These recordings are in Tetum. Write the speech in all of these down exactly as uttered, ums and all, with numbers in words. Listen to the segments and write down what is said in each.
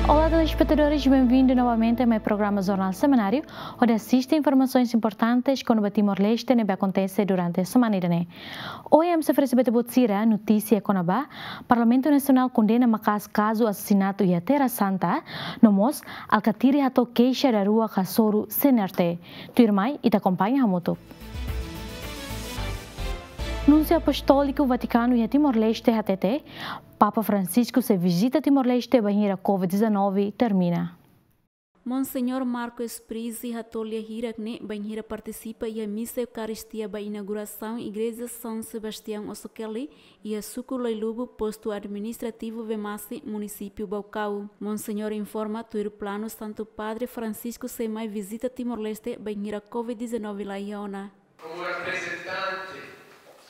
Olá, telespetadores, bem-vindo novamente ao meu programa Jornal Semanário, onde assiste informações importantes kona-ba Timor-Leste ne'ebé akontese durante semana ida-ne'e. Ohin ami sei oferese ba ita-boot sira notísia kona-ba Parlamentu Nasionál kondena maka'as kazu asasinatu iha Terra Santa, no mós Alkatiri hato'o keixa daruak hasoru C N R T. Tuirmai, ita akompaña hamutuk. Núnsiu Apostóliku Vatikanu iha Timor-Leste hatete, Papa Francisco sei vizita Timor-Leste bainhira covid dezanove termina. Monseñór Marco Sprizzi hato'o lia hirak ne'e bainhira partisipa iha misa Eukaristia ba inaugurasaun Igreja São Sebastião Ossokeli, iha suku Loilubu, postu administrativu Vemasi, munisípiu Baucau. Monseñór informa tuir planu Santu Padre Francisco sei mai vizita Timor-Leste bainhira covid dezanove la iha ona. Como representante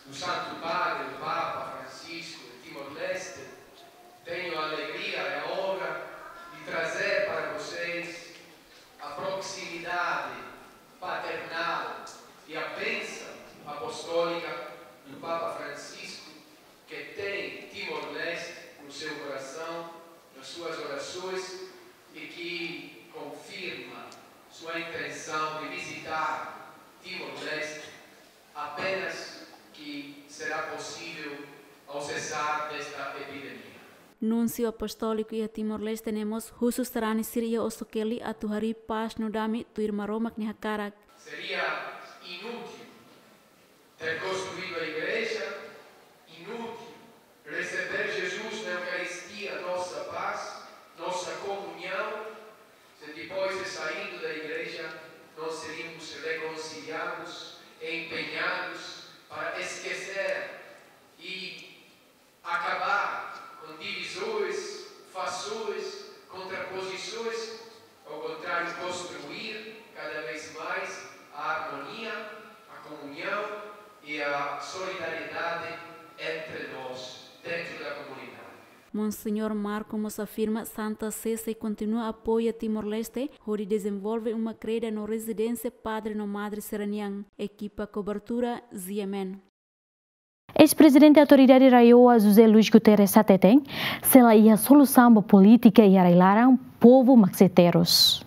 do Santo Padre, o Papa Francisco, em Timor-Leste, tenho a alegria e a honra de trazer para vocês a proximidade paternal e a bênção apostólica do Papa Francisco, que tem Timor-Leste no seu coração, nas suas orações, e que confirma sua intenção de visitar Timor-Leste apenas que será possível ao cessar desta epidemia. Núnsiu Apostóliku iha Timor-Leste ne'e mós husu sarani sira iha Ossokeli atu harii pás no dame tuir Maromak nia hakarak. Seria inútil ter construído a igreja, inútil receber Jesus na Eucaristia, nossa paz, nossa comunhão, se depois de saído da igreja nós seríamos reconciliados e empenhados para esquecer e acabar com divisões, fações, contraposições, ao contrário, construir cada vez mais a harmonia, a comunhão e a solidariedade entre nós, dentro da comunidade. Monseñór Marco mós afirma Santa Sé sei kontinua apoia Timor-Leste hodi dezenvolve uma kreda no rezidénsia padre no madre sira-nian. Ekipa kobertura, G M N. Eis-Prezidente Autoridade RAEOA José Luís Guterres hateten, sei la iha solusaun ba polítika iha rai-laran, povu mak sei terus.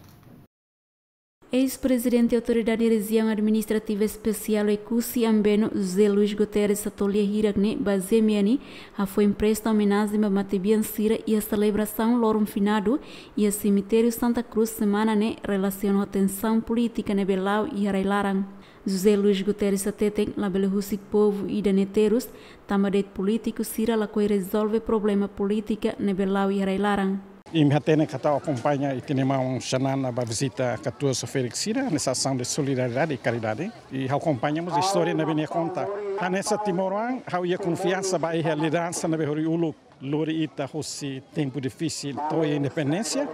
Eis-Prezidente Autoridade Rejiaun Administrativa Espesiál Oekusi Ambeno, José Luís Guterres, hato'o lia hirak ne'e ba G M N, hafoin presta omenajen ba matebian sira iha selebrasaun loron finadu iha semitériu Santa Cruz semana ne'e, relasiona ho tensaun polítika ne'ebé la'o iha rai-laran. José Luís Guterres hateten labele husik povu ida-ne'e terus, tanba de'it polítiku sira lakohi rezolve problema polítika ne'ebé la'o iha rai-laran. Imi hatene katak ha'u akompaña ita-nia maun Xanana ba vizita katuas ferik sira, hanesan asaun de solidariedade e karidade. I ha'u akompaña mós istória ne'ebé nia konta. Hanesan timoroan, ha'u iha konfiansa ba iha lideransa ne'ebé hori uluk lori ita hosi tempu difisil to'o independénsia.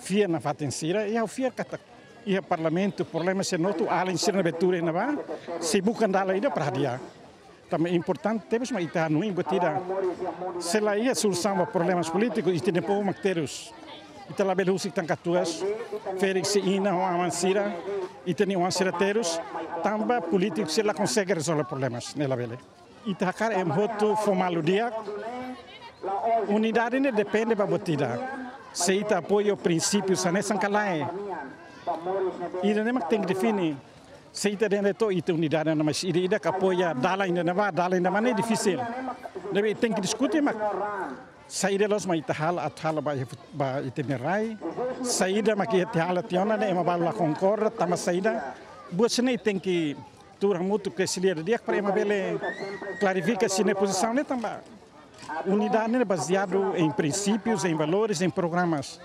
Fiar nafatin sira, i ha'u fiar katak iha parlamentu, problema sira hotu, alin sira ne'ebé tuur iha ne'ebá, sei buka dalan ida para hadi'a. Tanba importante tebes mak ita hanoin buat ida. Se la iha solusaun ba problemas polítiku, ita-nia povu mak terus. Ita labele husik tan katuas, ferik sira-nia inan ho aman sira, ita-nia oan sira terus, tanba polítiku sira la konsege rezolve problemas, ne'e labele. Ita hakarak ema hotu fó malu di'ak. Unidade ne'e depende ba buat ida. Se ita apoia prinsípiu hanesan ka lae. Ida-ne'e mak tenke define. Se ita dehan de'it ita unidade, mas ida-idak apoia dalan ida-ne'ebá, dalan ida-ne'ebá ne'e difisil. Ne'ebé tenke diskute mak saida loos mak ita halo, atu halo ba, ba ita-nia rai. Saida mak ita halo tiha ona ne'e ema balu la konkorda, tanba saida. Buat sira-ne'e tenke tuur hamutuk ke se lia di'ak para ema bele klarifika sira-nia pozisaun ne'e tanba unidade ne'e bazeadu em princípios, em valores, em programas.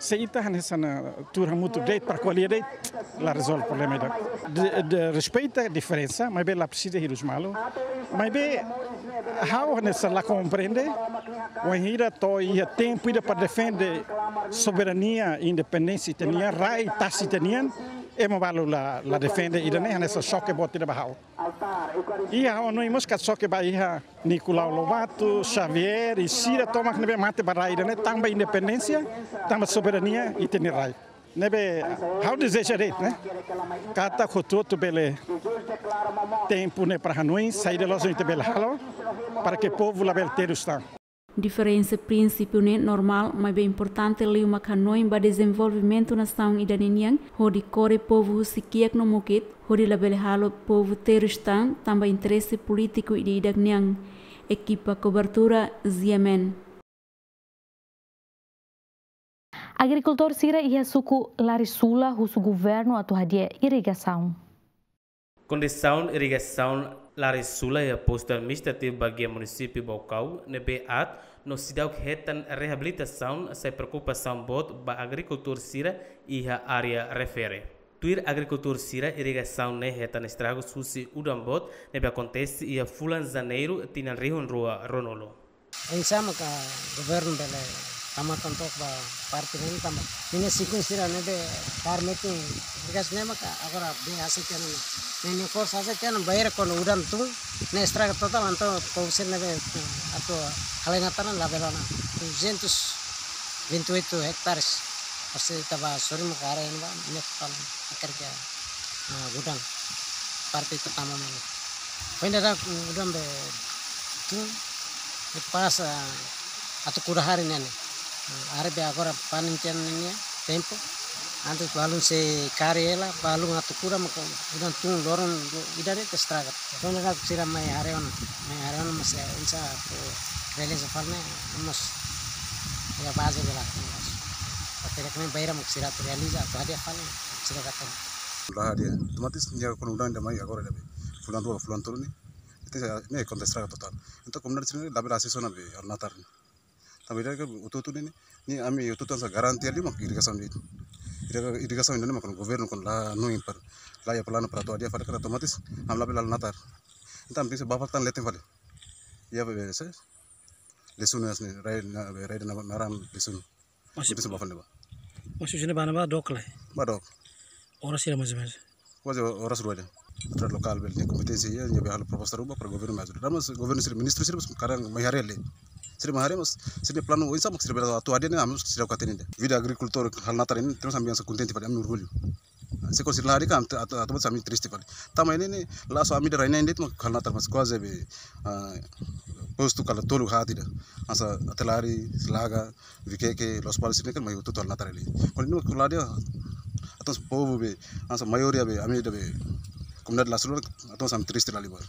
Se ita hanesan tuur hamutuk de'it para ko'alia de'it, la rezolve problema ida. De, de respeita diferensa, maibé la presiza hirus malu. Maibé ha'u hanesan la komprende, wainhira to'o iha tempu ida para defende soberania, independénsia ita-nian, rai tasi ita-nian, ema balu la, la defende ida-ne'e, hanesan xoke boot ida ba ha'u. I ha'u hanoin mós katak xoke ba iha Nicolau Lobato, Xavier, i sira tomak ne'ebé mate ba rai ida-ne'e, tanba independénsia, tanba soberania, ita-nia rai. Ne'ebé, ha'u dezeja de'it, ne'e? Katak hotu-hotu bele tempu ne'e para hanoin, saida loos ita bele halo, para ke povu labele terus tan. Diferensa prinsípiu ne'e normál, maibé importante liu mak hanoin ba dezenvolvimentu nasaun ida-ne'e nian, hodi kore povu husi kiak no mukit, hodi labele halo povu terus tan, tanba interese polítiku ida-idak nian. Ekipa kobertura, Z M N. Agrikultór sira iha suku Larisula husu governu atu hadi'a irrigasaun. Kondisaun irrigasaun Larisula iha postu administrativu Baguia, munisípiu Baucau, ne'ebé aat no seidauk hetan reabilitasaun sai preokupasaun boot ba agrikultór sira iha área refere. Tuir agrikultór sira, irrigasaun ne'e hetan estragus husi udan boot ne'ebé akontese iha fulan Janeiru tinan rihun rua ruanulu. Oinsá maka governu bele tama tan took ba parte ne'e tanba ninia sikun sira ne'ebé kaer metin irrigasaun ne'e maka agora bele hasai tiha ona. Ne'e ne'e kos hasai tiha ona bainhira kuandu udan tun ne'e estraga totál, entaun povu sira ne'ebé, eh, atu halai natar ne'e labele ona. Duzentos vinte e oito hectares. Pasti ita bá sorin maka área ne'ebá ne'e total akhirnya, ah, gudang parte pertama mana. Foin dadauk, mm, udan be tun, be pas, ah, atu kuda hari ne'e. Ah, hari be agora panen tiha ona ninia tempu. Antes balun sei kari hela, balun atu kuda maka udan tun loron ida de'it estraga. Foin dadauk sira mai haree ona, mai haree ona mas, eh, oinsá atu realiza fali ne'e, mós iha baze bela. Até que bainhira mós sira atu realiza, atu hadi'a fali, sira kata. La hadi'a, otomatis nia kuandu udan ida mai agora ida be. Fulan rua, fulan tolu ne'e. Ita ne'e konta estraga totál. Entaun komunidade sira ne'e labele asesu ona be halo natar. Tanba ida-ne'e hotu-hotu ne'e, ne'e ami hotu-hotu hanesan garantia liu mak irrigasaun ne'e. Irriga-, irrigasaun ida-ne'e mak governu kuandu la hanoin para, la iha planu para atu hadi'a fali karik otomatis ami labele halo natar. Entaun ami tenke bá fali tan leten fali. Iha be, be, se, Lesunu hanesan ne'e, rai na, be, rai na, naran Lesunu. Masih, tenke bá fali ne'ebá. Masih sini bá ne'ebá dook lai? Bá dook. Oras hira mais ou menos? Kuaze oras rua de'it. Autoridade lokál bele iha kompeténsia iha, nia bele halo proposta ruma para governu mai ajuda. Tanba governu sira, ministru sira mós kadang mai haree lai. Sira mai haree mas, sira-nia planu oinsá mak sira bele atu hadi'a ne'e ami mós seidauk hatene ida. Vida agrikultór halo natar ne'e, terus ami hanesan kontente fali, ami orgullu. Se kuandu sira la hadi'a kan, atu, atu, atu ami triste fali. Tanba ne'e ne'e, la só ami ida rai na'in de'it mak halo natar mas kuaze be, ah, postu kala tolu haat ida. Hanesan Atelari, Laga, Viqueque, Lospalos, sira-ne'e kan mai hotu-hotu halo natar lai. Kuandu ne'e kuandu la hadi'a, entaun povu be, hanesan maioria be, ami ida be, komunidade Larisula, entaun ami triste liu ba.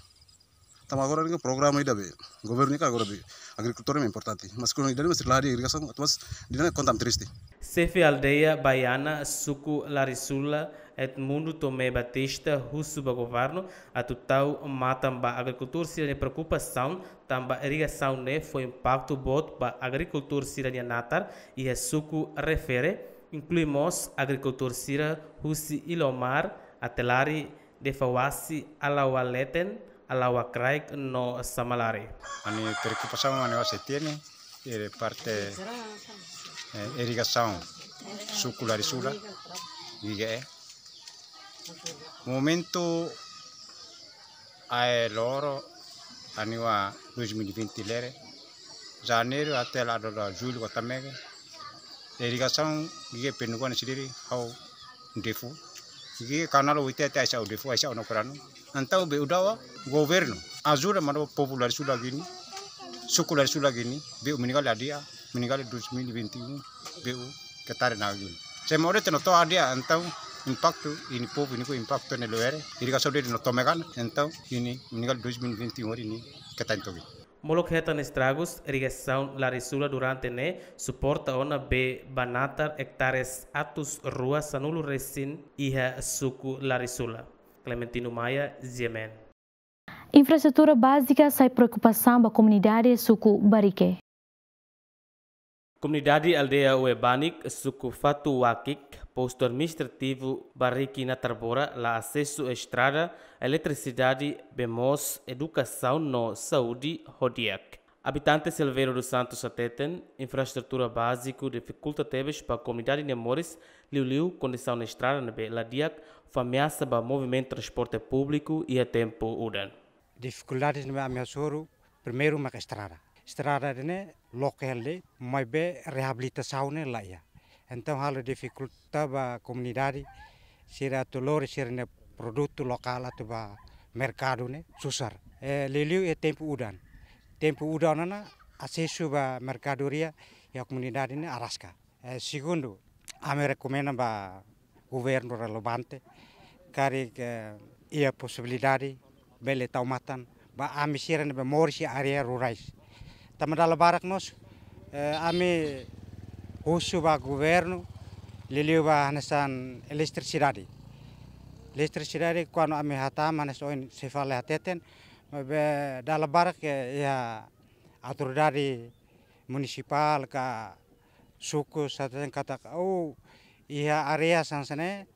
Tanba agora ne'e programa ida be, governu ne'e agora be, agrikultór ne'e importante. Mas kuandu ida-ne'e mas la hadi'a irrigasaun, entaun ida-ne'e konta ami triste. Xefe aldeia Baiana, suku Larisula, Edmundo Tomé Batista, husu ba governu atu tau matan ba agrikultór sira-nia preokupasaun, tanba irrigasaun ne'e fó impaktu boot ba agrikultór sira-nia natar iha suku refere, inklui mós agrikultór sira husi Ilomar, Atelari, Defauasi, Alaua Leten, Alaua Kraik no Samalari. Ami preokupasaun ami sei hatene, eh, parte, eh, irrigasaun suku Larisula, Viqueque. Momentu ae loro, aniwa dois mil e vinte lere, Janeiru até la'o ba Jullu kota Mega. Irrigasaun Viqueque penukuan sendiri ha'u defu. Viqueque kanál oite até aisa ha'u defu, aisa ha'u no kuranu. Entaun be udawa governu ajuda mano povu Larisula gini, suku Larisula gini, be meninggal dia, meninggal dois mil e vinte e um, be ketare na gini. Se more te no to'o hadi'a, entaun impaktu nia povu nia ku impaktu ne'e loere, irrigasaun de'it no tome kan, entaun nia meninggal dois mil e vinte e um ohin nia keta entaun. Molok hetan estragus, irrigasaun Larisula durante ne'e suporta ona be ba natar ektares atus rua sanulu resin iha suku Larisula. Clementino Maia, Z M N. Infraestrutura bázika sai preokupasaun ba komunidade suku Barrique. Komunidade aldeia Uebanik, suku Fatuakik, postu administrativu Barrique Natarbora, la asesu estrada, eletrisidade, bee moos, edukasaun no saúde ho di'ak. Abitante Silveiro dos Santos hateten, infraestrutura báziku difikulta tebes ba komunidade nia moris, liuliu kondisaun estrada ne'ebé la di'ak, fó ameasa ba movimentu transporte públiku iha tempu udan. Difikuldades ne'ebé ami hasoru, primeiru maka estrada. Estrada ne'e loke hela de'it, maibé reabilitasaun ne'e la iha. Entaun halo difikulta ba komunidade sira atu lori sira-nia produtu lokál atu ba merkadu ne'e susar. Eh, liuliu iha tempu udan. Tempu udan ona asesu ba merkadoria iha komunidade ne'e araska. Eh, segundu, ami rekomenda ba governu relevante, karik iha posibilidade bele tau matan ba ami sira ne'ebé moris iha área rurais. Tanba dala barak mós, eh, ami husu ba governu, liuliu ba hanesan eletrisidade. Eletrisidade kuandu ami hatama hanesan ohin sei fali hateten, maibé dala barak iha autoridade munisipál ka suku hateten katak, oh, iha área hanesan ne'e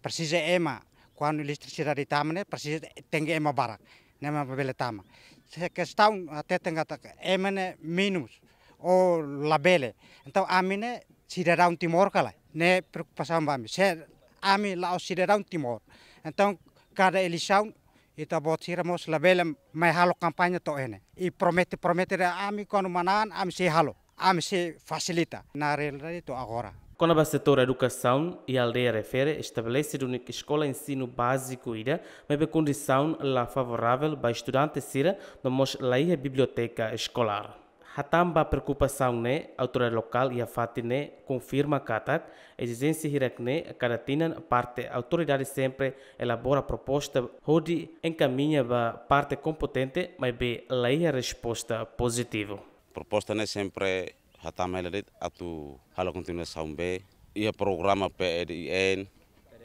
presiza ema, kuandu eletrisidade tama ne'e presiza tenke ema barak, ne'e mak bele tama. Se kestaun hateten katak ema ne'e menus, ou labele. Entaun ami ne'e sidadaun Timor ka lae, ne'e preokupasaun ba ami. Se ami la'ós sidadaun Timor, entaun kada eleisaun ita-boot sira mós labele mai halo kampaña to'o iha ne'e. I promete, promete de'it, ami kuandu manán, ami sei halo, ami sei fasilita. Na realidade to'o agora. Kona-ba setór edukasaun, iha aldeia refere estabelese duni eskola ensinu báziku ida, maibé kondisaun la favoravel ba estudante sira, no mós laiha biblioteka eskolár. Hatán ba preokupasaun ne'e, autoridade lokál iha fatin ne'e konfirma katak ezijénsia hirak-ne'e kada tinan parte autoridade sempre elabora proposta hodi enkamiña ba parte kompetente, maibé laiha resposta pozitivu. Proposta ne'e sempre hatama hela de'it atu halo kontinuasaun bee. Iha programa P E D I N,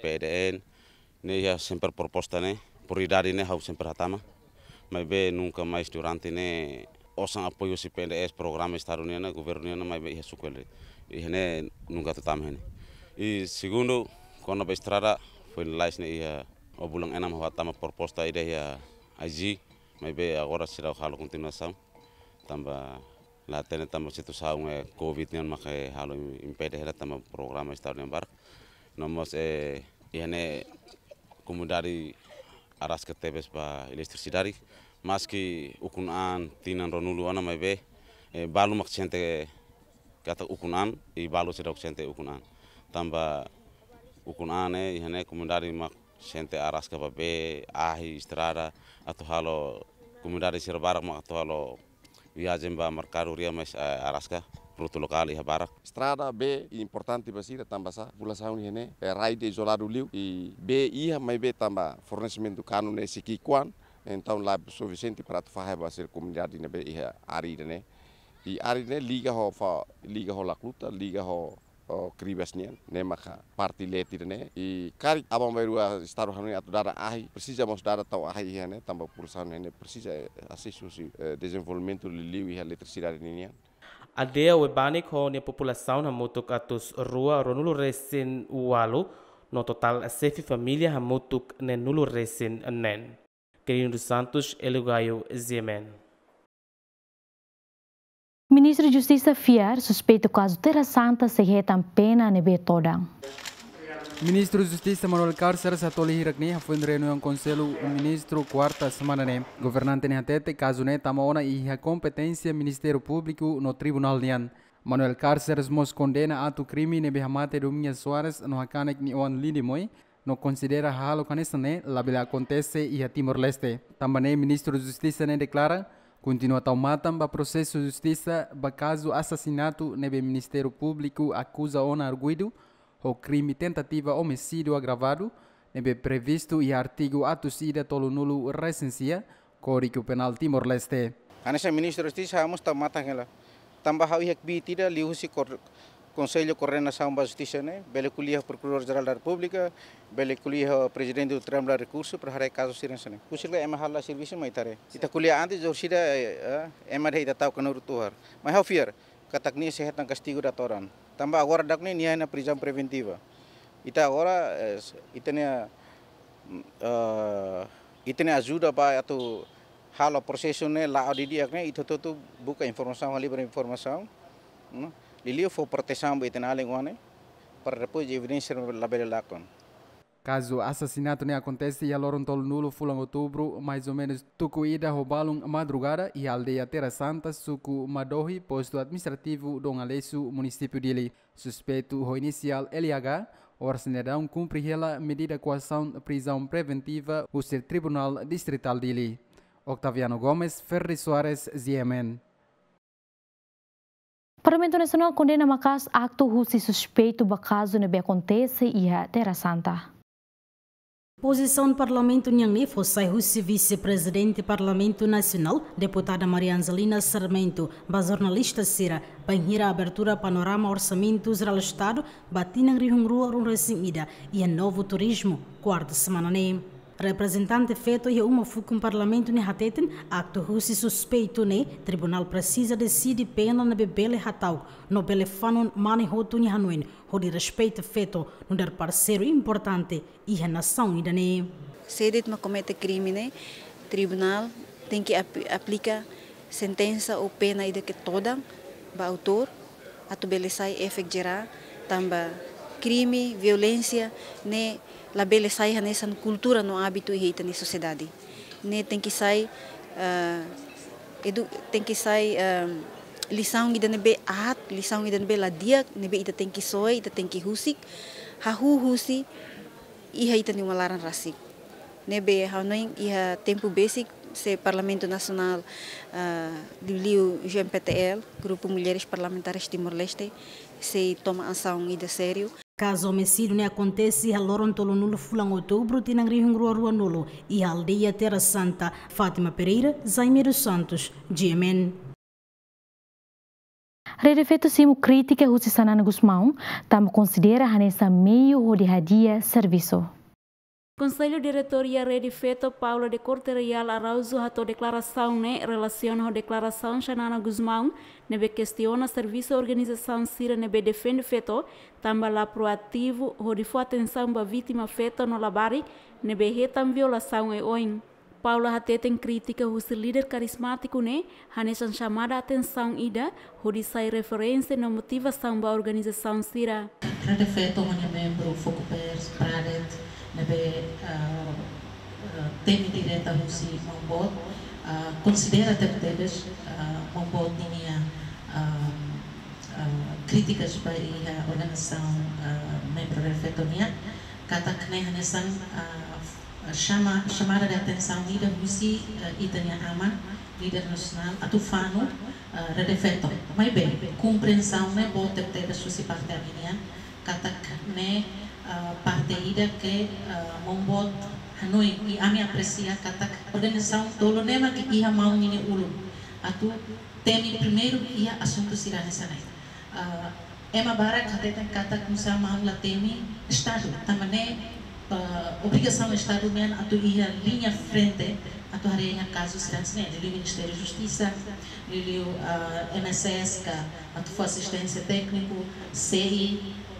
P E D N, ne'e iha sempre proposta ne'e, prioridade ne'e ha'u sempre hatama. Maibé nunka mais durante ne'e osan apoiu husi P N D S, programa Estadu nian, governu nian, maibé iha suku hela de'it. Iha ne'e nunka atu tama iha ne'e. I segundu, kona-ba estrada, foin lalais ne'e iha, o bulan enam ha'u hatama proposta ida iha I G, maibé agora seidauk halo kontinuasaun. Tanba la hatene tanba situasaun, eh, covid nian maka, eh, halo impede hela tanba programa Estadu nian barak. No mós, eh, iha ne'e komunidade araska tebes ba eletrisidade. Maski ukun an tinan ruanulu ona maibé, eh, balu mak sente katak ukun an, i balu seidauk sente ukun an. Tanba ukun an ne'e, iha ne'e komunidade mak sente araska ba bee, ahi, estrada, atu halo komunidade sira barak mak atu halo viajen ba merkadoria mais, eh, araska, produtu lokál iha barak. Estrada, bee importante ba sira tanba sá, populasaun iha ne'e, eh, rai de'it izoladu liu, i bee iha maibé tanba fornesimentu kanu ne'e sei ki'ik-oan, entaun la sufisiente para atu fahe ba sira komunidade ne'ebé iha área ida-ne'e. I área ida-ne'e liga ho fa-, liga ho Lacluta, liga ho, ho Cribas nian, ne'e maka parte leten ida-ne'e. I karik aban-bainrua Estadu hanoin atu dada ahi, presiza mós dada tau ahi iha ne'e, tanba populasaun ne'e presiza, eh, asesu husi, eh, dezenvolvimentu liuliu iha eletrisidade ninian. Aldeia Uebanik ho nia populasaun hamutuk atus rua ruanulu-resin-ualu, no totál xefe família hamutuk neenulu-resin-neen. Quirino dos Santos, Hélio Gaio, G M N. Ministru Justisa fiar suspeitu kazu Terra Santa sei hetan pena ne'ebé todan. Ministru Justisa Manuel Cárceres hato'o lia hirak-ne'e hafoin reuniaun Konsellu Ministru kuarta semana ne'e. Governante ne'e hatete kazu ne'e tama ona iha kompeténsia Ministériu Públiku no Tribunál nian. Manuel Cárceres mós kondena atu krime ne'ebé hamate Domingas Soares no hakanek nia oan Lindy Moy, no konsidera hahalok hanesan ne'e labele akontese iha Timor-Leste. Tanba ne'e Ministru Justisa ne'e deklara, kontinua tau matan ba prosesu justisa ba kazu asasinatu ne'ebé Ministériu Públiku akuza ona arguidu ho krime tentativa omisídiu agravadu, ne'ebé previstu iha artigu atus ida tolunulu-resin-sia, Kódigu Penál Timor-Leste. Hanesan Ministru Justisa ha'u mós tau matan hela. Tanba ha'u iha kbiit ida liuhusi kor-, Konsellu Koordenasaun ba Justisa ne'e, bele ko'alia ho Prokuradór Jerál da Repúblika, bele ko'alia ho Prezidente Tribunál Rekursu, para haree kazu sira hanesan ne'e. Husik la ema halo servisu mai tare. Ita ko'alia antes, orsida, eh, eh, ema dehan ita tau kanuru tuhar. Mai ha'u fiar katak nia sei hetan kastigu datoran. Tanba agora daudaun ne'e nia iha ona prizaun preventiva. Ita agora, eh, ita-nia, eh, ita-nia ajuda ba atu halo prosesu ne'e la'o didi'ak ne'e, ita hotu-hotu buka informasaun, halibur informasaun, no liuliu fó protesaun ba ita-nia alin-oan ne'e, para depois evidénsia labele lakon. Kazu asasinatu ne'e akontese iha loron tolunulu fulan Outubru, mais ou menus tuku ida ho balun madrugada, iha aldeia Terra Santa, suku Madohi, postu administrativu Dom Aleixo, munisípiu Dili. Suspeitu ho inisiál L H, oras ne'e daudaun kumpre hela medida koasaun prizaun preventiva husi Tribunál Distritál Dili. Octaviano Gomes, Ferri Soares, G M N. Parlamentu Nasionál kondena maka'as aktu husi suspeitu ba kazu ne'ebé akontese iha Terra Santa. Pozisaun Parlamentu nian ne'e fó sai husi Vise-Prezidente Parlamentu Nasionál, Deputada Maria Angelina Sarmento, ba jornalista sira, bainhira abertura panorama Orsamentu Jerál Estadu ba tinan rihun rua ruanulu resin ida, iha Novo Turismo, kuarta semana ne'e. Reprezentante feto iha uma fukun Parlamentu ne'e hateten, aktu husi suspeitu ne'e, tribunál presiza deside pena ne'ebé bele hata'uk, no bele fanun mane hotu nia hanoin, hodi respeita feto nu'udar parseiru importante iha nasaun ida-ne'e. Se de'it mak komete krime ne'e, tribunál tenke ap-, aplika sentensa ou pena ida ke todan ba autór, atu bele sai efeitu jerál, tanba krime, violénsia ne'e labele sai hanesan kultura no ábitu iha ita-nia sosiedade. Ne'e tenke sai, ah, edu-, tenke sai, ah, lisaun ida ne'ebé aat, lisaun ida ne'ebé la di'ak, ne'ebé ita tenke soe, ita tenke husik, hahú husi iha ita-nia uma laran rasik. Ne'ebé ha'u hanoin iha tempu besik se Parlamentu Nasionál, ah, liuliu G M P T L, Grupu Mulheres Parlamentares Timor-Leste, sei toma asaun ida sériu. Kazu omisídiu ne'e akontese iha loron tolunulu fulan Outubru tinan rihun rua ruanulu, iha aldeia Terra Santa. Fátima Pereira, Jaime dos Santos, G M N. Rede Feto simu krítika husi Xanana Gusmão, tanba konsidera hanesan meiu hodi hadi'a servisu. Konsellu Diretór iha Rede Feto, Paula de Corte Real Araújo, hato'o deklarasaun ne'e relasiona ho deklarasaun Xanana Gusmão, ne'ebé kestiona servisu organizasaun sira ne'ebé defende feto, tanba la proativu hodi fó atensaun ba vítima feto no labarik ne'ebé hetan violasaun oioin. Paula hateten krítika husi líder karizmátiku ne'e hanesan xamada atensaun ida hodi sai referénsia no motivasaun ba organizasaun sira. Rede Feto ho nia membru Fokupers, Pradet, ne'ebé, ah, ah, temi direta husi Maun Boot, ah, konsidera tebetebes, ah, Maun Boot ninia, ah, ah, krítikas ba iha organizasaun, ah, membru Rede Feto nian, katak ne'e hanesan, ah, xama, xamada de atensaun ida husi, eh, ita-nia aman, líder nasionál, atu fanun, eh, Rede Feto. Maibé, komprensaun ne'e boot tebetebes husi parte ami nian, katak ne'e, eh, parte ida ke, eh, Maun Boot hanoin, i ami apresia katak organizasaun tolu ne'e mak iha maun ninia ulun atu temi primeiru iha asuntu sira hanesan ne'e. Ah, ema barak hateten katak nusá maun la temi Estadu, tanba ne'e, ah, obrigasaun Estadu nian atu iha liña frente, atu haree iha kazu sira hanesan ne'e, liuliu Ministériu Justisa, liuliu, ah, M S S ka, atu fó asisténsia tékniku, C I,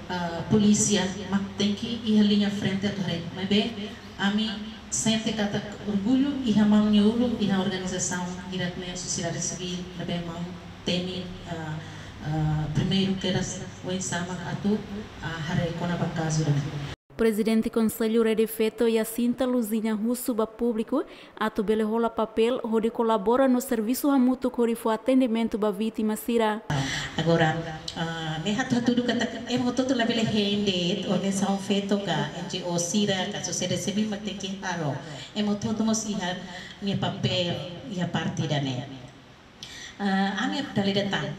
ah, polísia, mak tenke iha liña frente atu haree. Maibé, ami sente katak orgullu iha maun nia ulun, iha organizasaun hirak ne'e sosiedade sivíl, ne'ebé maun temi, ah, ah, primeiru kedas oinsá mak atu, ah, haree kona-ba kazu ne'e. Prezidente Konsellu Rede Feto, Jacinta Luzinha, husu ba públiku atu bele hola papél hodi kolabora no servisu hamutuk hodi fó atendimentu ba vítima sira. Agora, ah, ne'e hatu-, hatudu katak ema hotu-hotu labele hein de'it, organizasaun feto ka N G O sira ka sosiedade sivíl mak tenke halo. Ema hotu-hotu mós iha nia papél iha parte ida-ne'e. Ah, ami dala ida tan,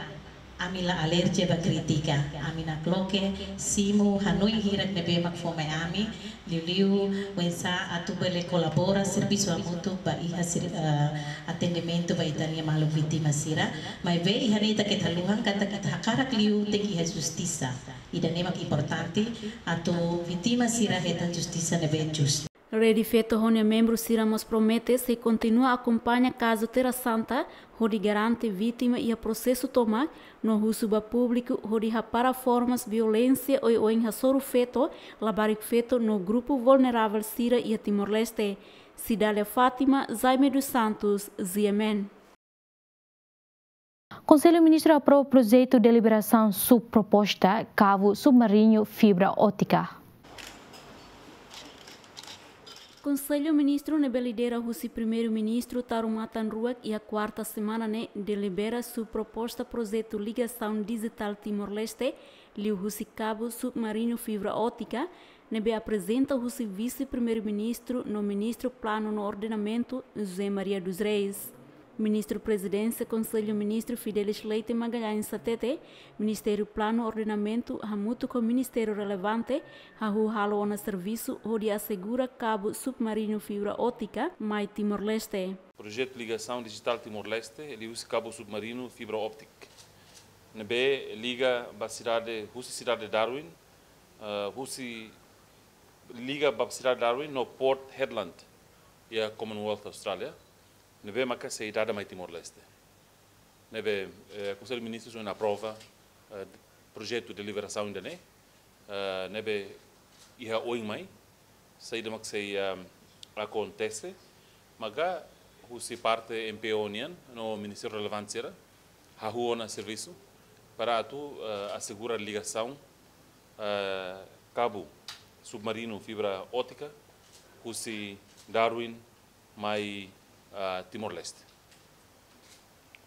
ami la alerje ba krítika, ami nakloke simu hanoin hirak ne'ebé mak fó mai ami, liuliu oinsá atu bele kolabora servisu hamutuk ba iha sir-, ah, atendimentu ba ita-nia maluk vítima sira. Maibé iha ne'e ita keta haluhan katak ita hakarak liu tenke iha justisa. Ida-ne'e mak importante atu vítima sira hetan justisa ne'ebé justu. Rede Feto ho nia membru sira mós promete sei kontinua akompaña kazu Terra Santa hodi garante vítima iha prosesu tomak, no husu ba públiku hodi hapara formas violénsia oioin hasoru feto, labarik feto no grupu vulneravel sira iha Timor-Leste. Cidália Fátima, Jaime dos Santos, G M N. Konsellu Ministru aprova projetu deliberasaun subproposta kavu submariñu fibra ótika. Konsellu Ministru ne'ebé lidera husi Primeiru-Ministru Taur Matan Ruak iha kuarta semana ne'e delibera subproposta projetu ligasaun dijitál Timor-Leste, liuhusi kavu submariñu fibra ótika, ne'ebé aprezenta husi Vise-Primeiru-Ministru no Ministru Planu no Ordenamentu, José Maria dos Reis. Ministru Prezidénsia Konsellu Ministru Fidelis Leite Magalhães hatete, Ministériu Planu Ordenamentu hamutuk ho ministériu relevante hahú halo ona servisu hodi asegura kabu submarinu fibra ótika mai Timor-Leste. Projetu ligasaun dijitál Timor-Leste, liuhusi kabu submarinu fibra óptika ne'ebé liga ba sidade, husi sidade Darwin, eh, husi liga ba sidade Darwin no Port Hedland iha Commonwealth Austrália, ne'ebé maka sei dada mai Timor-Leste. Ne'ebé, eh, Konsellu Ministrus ohin aprova, eh, projetu deliberasaun ida-ne'e, eh, ne'ebé iha oin mai, saida mak sei, eh, akontese, maka husi parte M P O nian no ministériu relevante sira hahú ona servisu para atu, eh, asegura ligasaun, eh, kabu submarinu fibra ótika husi Darwin mai, eh, Timor-Leste.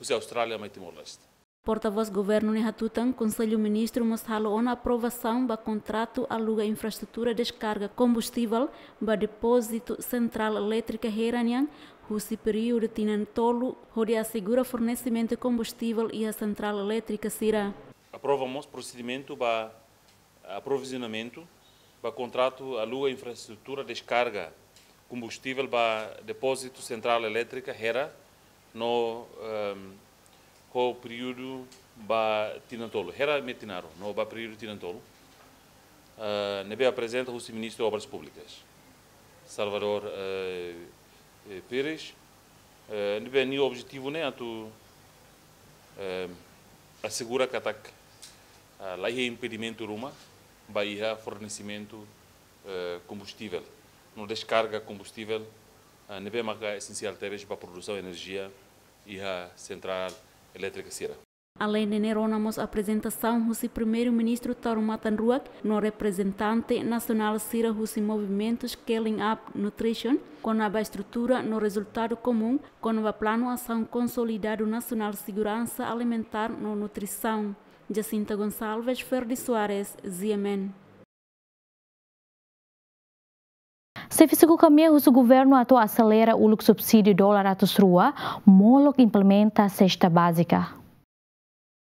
Husi Austrália mai Timor-Leste. Portavós Governu ne'e hatutan, Konsellu Ministru mós halo ona aprovasaun ba kontratu aluga infraestrutura deskarga kombustivel ba depózitu sentrál elétrika Hera nian, husi períodu tinan tolu, hodi asegura fornesimentu kombustivel iha sentrál elétrika sira. Aprova mós prosedimentu ba aprovizionamentu ba kontratu aluga infraestrutura deskarga kombustivel ba depózitu sentrál elétrika Hera no, ehm, ho períodu ba tinan tolu. Hera metin aru, no ba períodu tinan tolu. Eh, ne'ebé aprezenta husi Ministru Obras Públikas, Salvador, eh, eh, Pires. Eh, ne'ebé nia objetivu ne'e atu, eh, asegura katak, ah, la iha impedimentu ruma ba iha fornesimentu, eh, kombustivel no deskarga kombustivel, ah, ne'ebé maka esensiál tebes ba produsaun enerjia iha sentrál elétrika sira. Aleinde ne'e, rona mós aprezentasaun husi Primeiru-Ministru Taur Matan Ruak no reprezentante nasionál sira husi movimentu Scaling Up Nutrition, kona-ba estrutura no rezultadu komún kona-ba Planu Asaun Konsolidadu Nasionál Seguransa Alimentár no Nutrisaun. Jacinta Gonçalves, Ferdi Soares, G M N. Xefe suku KAMEA husu governu atu aselera uluk subsídiu dolar ratus rua, molok implementa sesta bázika.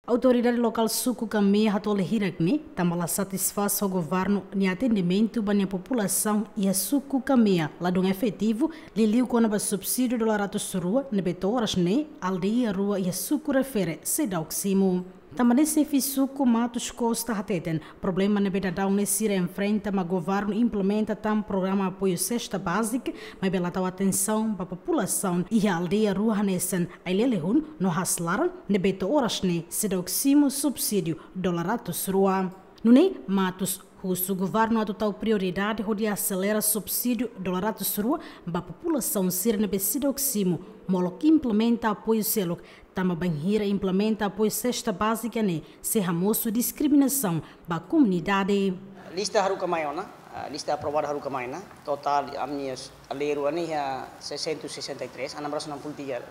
Autoridade lokál suku KAMEA hato'o hirak ne'e, tanba la satisfás ho governu nia atendimentu ba nia populasaun iha suku KAMEA ladún efetivu, liuliu kona-ba subsídiu dolar ratus rua ne'ebé to'o oras ne'e aldeia rua iha suku refere seidauk simu. Tanba ne'e xefe suku Matos Costa hateten, problema ne'ebé dadaun ne'e sira enfrenta mak governu implementa tan programa apoiu sesta bázika, maibé la tau atensaun ba populasaun iha aldeia rua hanesan Ailele Hun no Haas Laran ne'ebé to'o oras ne'e seidauk simu subsídiu dolar ratus rua. Nune'e, Matos husu governu atu tau prioridade hodi aselera subsídiu dolar ratus rua ba populasaun sira ne'ebé seidauk simu, molok implementa apoiu seluk, tanba bainhira implementa apoiu sesta bázika ne'e sei hamosu diskriminasaun ba komunidade. Lista haruka mai ona, ah, lista aprovadu haruka mai ona, totál ami aldeia rua ne'e iha seiscentos e sessenta e três, enam ratus enam puluh tiga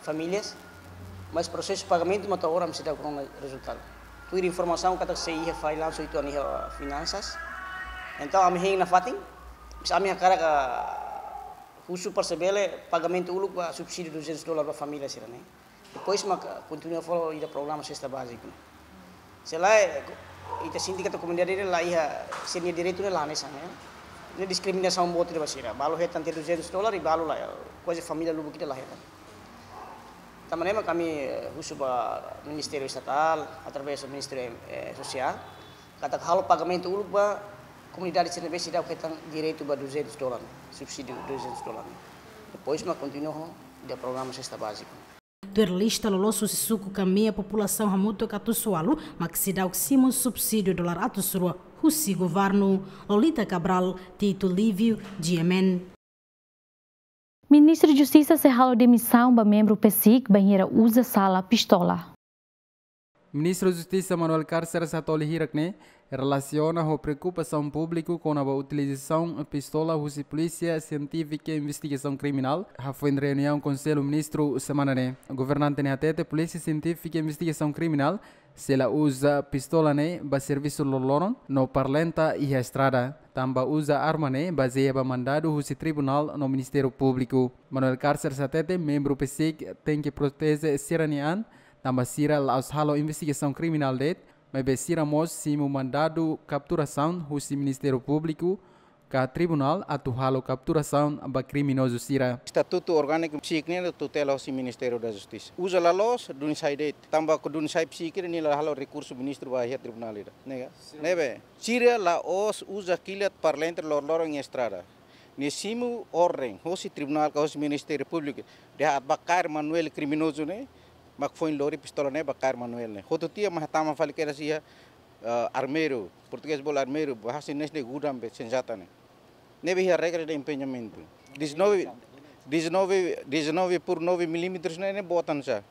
famílias, mas prosesu pagamentu mak to'o oras seidauk rona rezultadu. Tuir informasaun katak sei iha file lansu itu iha finansas. Entaun ami hein nafatin, mas ami hakarak husu para se bele pagamentu uluk ba subsídiu duzentos dolar ba família sira ne'e. Depois mak kontinua fó ida programa sesta bázika. Se lae, ita sente katak komunidade ne'e la iha, sira-nia direitu ne'e la hanesan, ya. Ne'e diskriminasaun boot ida ba sira. Balu hetan tiha duzentos dolar, i balu la, kuaze família lubuk ida la hetan. Tanba ne'e mak ami, eh, husu ba Ministériu Estatál, através Ministériu, eh, Sosiál, katak halo pagamentu uluk ba komunidade sira ne'ebé seidauk hetan direitu ba duzentos dolar, subsídiu duzentos dolar. Depois mak kontinua ho ida programa sesta bázika. Tuir lista loloos husi suku KAMEA, populasaun hamutuk atus ualu mak seidauk simu subsídiu dolar ratus rua husi governu. Lolita Cabral, Tito Lívio, G M N. Ministru Justisa sei halo demisaun ba membru PACIC bainhira uza sala pistola. Ministru Justisa Manuel Cárceres hato'o hirak ne'e relasiona ho preokupasaun públiku kona-ba utilizasaun pistola husi Polísia Sientífika Investigasaun Kriminál, hafoin reuniaun Konsellu Ministru semana ne'e. Governante ne'e hatete Polísia Sientífika Investigasaun Kriminál Sei la uza pistola ne'e ba servisu loroloron no parlenta iha estrada. Tanba uza arma ne'e bazeia ba mandadu husi tribunál no Ministériu Públiku. Manuel Carceres hatete membru PCIC tenke proteje sira-nia an, tanba sira la'ós halo investigasaun kriminál de'it, maibé sira mós simu mandadu kapturasaun husi Ministériu Públiku ka tribunál atu halo kapturasaun ba kriminozu sira. Estatutu orgániku PCIC nian tutela husi Ministériu da Justisa. Uza la loos, duni sai de'it. Tanba ko duni sai PCIC nia la halo rekursu ministru ba iha tribunál ida. Nega. Ne'ebé, sira la'ós uza kilat parlenta loroloron iha estrada. Nia simu orden husi tribunál ka husi Ministériu Públiku. Dehan atu ba kaer Manuel kriminozu ne'e, mak foin lori pistola ne'e ba kaer Manuel ne'e. Hotu tiha mak hatama fali kedas iha, eh, armeiru, portugés bolu armeiru, bahasa Indonézia ne'e gudang be senjata ne'e. Ne'ebé iha regra de empenhamentu. Dezanove, dezanove, dezanove por nove milímetros ne'e, ne'e boot ona sá.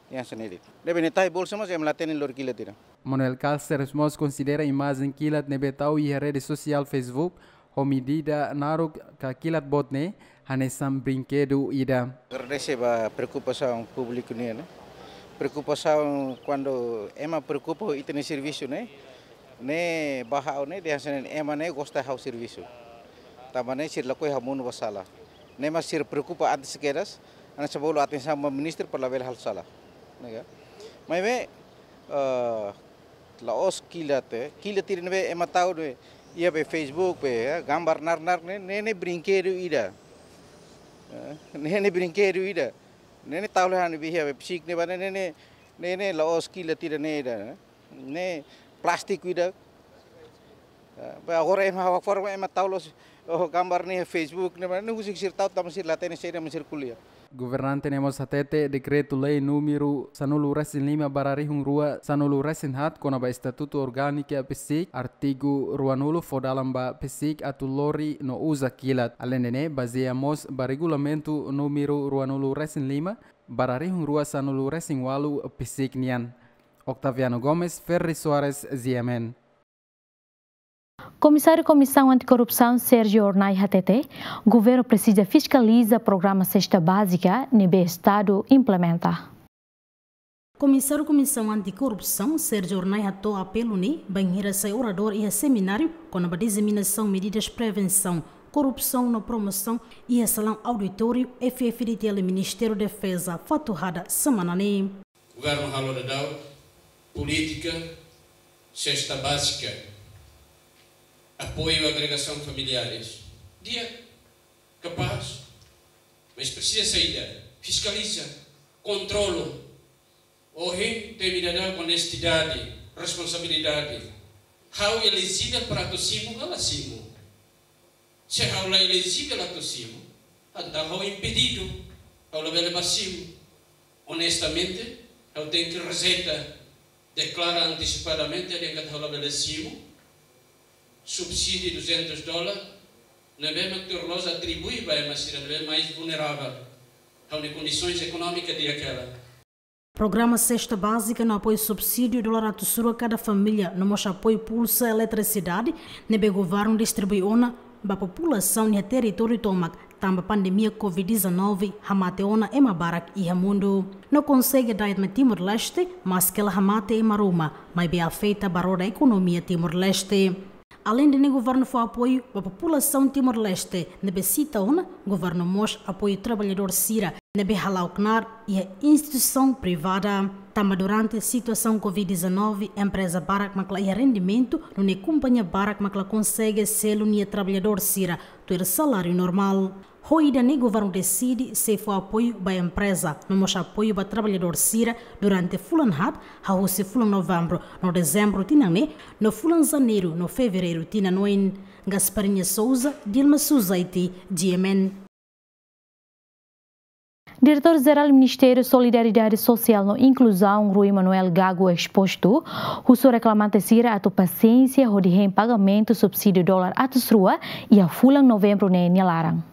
Yang sendiri. Ne'ebé nia tahi bolsa mas ema la hatene lori kilat ida. Manuel Carceres mós konsidera imajen kilat ne'ebé tau iha rede sosiál Facebook ho medida naruk ka kilat boot ne'e hanesan brinkedu ida. Agradese ba preokupasaun públiku nian, ne'e. Preokupasaun kuandu ema preokupa ho ita-nia servisu ne'e, ne'e ba ha'u ne'e dehan hanesan ema ne'e gosta ha'u servisu. Tanba ne'e sira lakohi ha'u monu ba sala. Ne'e mak sira preokupa antes kedas, hanesan bolu atensaun ba ministru para labele halo sala. Nega. Maibé, eh, la'ós kilat, eh. Kilat ida ne'ebé ema tau ne'e, iha be Facebook be, eh, gambar nar-nar ne'e, ne'e, ne'e brinkedu ida. Eh, ne'e, ne'e brinkedu ida. Ne'e, ne'e tau le han be iha be PCIC ne'ebá ne'e, ne'e, ne'e, ne'e, ne'e la'ós kilat ida ne'e ida, eh. Ne'e plástiku ida. Eh, be agora ema ha'u forma ema tau loos, oh, gambar ne'e Facebook ne'ebá ne'e husik sira tau tanba sira la hatene saida mak sira ko'alia. Governante ne'e mós hatete dekretu-lei númeru sanulu resin lima barra rihun rua sanulu resin haat kona-ba estatutu orgániku PCIC, artigu ruanulu fó dalan ba PCIC atu lori no uza kilat. Aleinde ne'e, bazeia mós ba regulamentu númeru ruanulu resin lima barra rihun rua sanulu resin ualu PCIC nian. Octaviano Gomes, Ferri Soares, G M N. Komisáriu Komisaun Antikorrupsaun Sérgio Hornai hatete, governu presiza fiskaliza programa sesta bázika ne'ebé Estadu implementa. Komisáriu Komisaun Antikorrupsaun Sérgio Hornai hato'o apelu ne'e bainhira sai oradór iha semináriu kona-ba diseminasaun medidas prevensaun korrupsaun no promosaun iha salaun auditóriu F F D T L Ministériu Defeza Fatuhada semana ne'e. Governu halo daudaun polítika sesta bázika, apoiu agregasaun familiares. Di'ak, kapás, mas presiza saida, fiskaliza, kontrolu. Ohin temi daudaun onestidade, responsabilidade. Ha'u elejivel para atu simu, ha'u la simu. Se ha'u la elejivel atu simu, entaun ha'u impedidu, ha'u labele bá simu. Onestamente, ha'u tenke rejeita, deklara antesipadamente dehan katak ha'u labele simu subsídiu duzentos dólar, ne'ebé mak tuir loloos atribui ba ema sira ne'ebé mais vulneravel, ha'u-nia kondisoens ekonómika di'ak hela. Programa sesta bázika no apoiu subsídiu dolar atus rua kada família, no mós apoiu pulsa eletrisidade ne'ebé governu distribui ona ba populasaun iha territóriu tomak, tanba pandemia covid dezanove hamate ona ema barak iha mundu. No konsege da'et mai Timor-Leste, maske la hamate ema ruma, maibé afeta ba roda ekonomia Timor-Leste. Aleinde ne'e governu fó apoiu ba populasaun Timor-Leste, ne'ebé sita ona, governu mós apoiu traballadór sira ne'ebé hala'o knaar iha instituisaun privada. Tanba durante situasaun covid dezanove, empreza barak mak la iha rendimentu, nune'e kompañia barak mak la konsege selu nia traballadór sira tuir saláriu normál. Ho ida-ne'e governu deside sei fó apoiu ba empreza, no mós apoiu ba traballadór sira durante fulan haat, hahú husi fulan Novembru no Dezembru tinan ne'e, no fulan Janeiru no Fevereiru tinan oin. Gasparinha Souza, Dilma Suzaiti, G M N. Diretór Jerál Ministériu Solidariedade Sosiál no Inkluzaun, Rui Manuel Gago Exposto, husu reklamante sira atu pasiénsia hodi hein pagamentu subsídiu dolar atus rua iha fulan Novembru ne'e nia laran.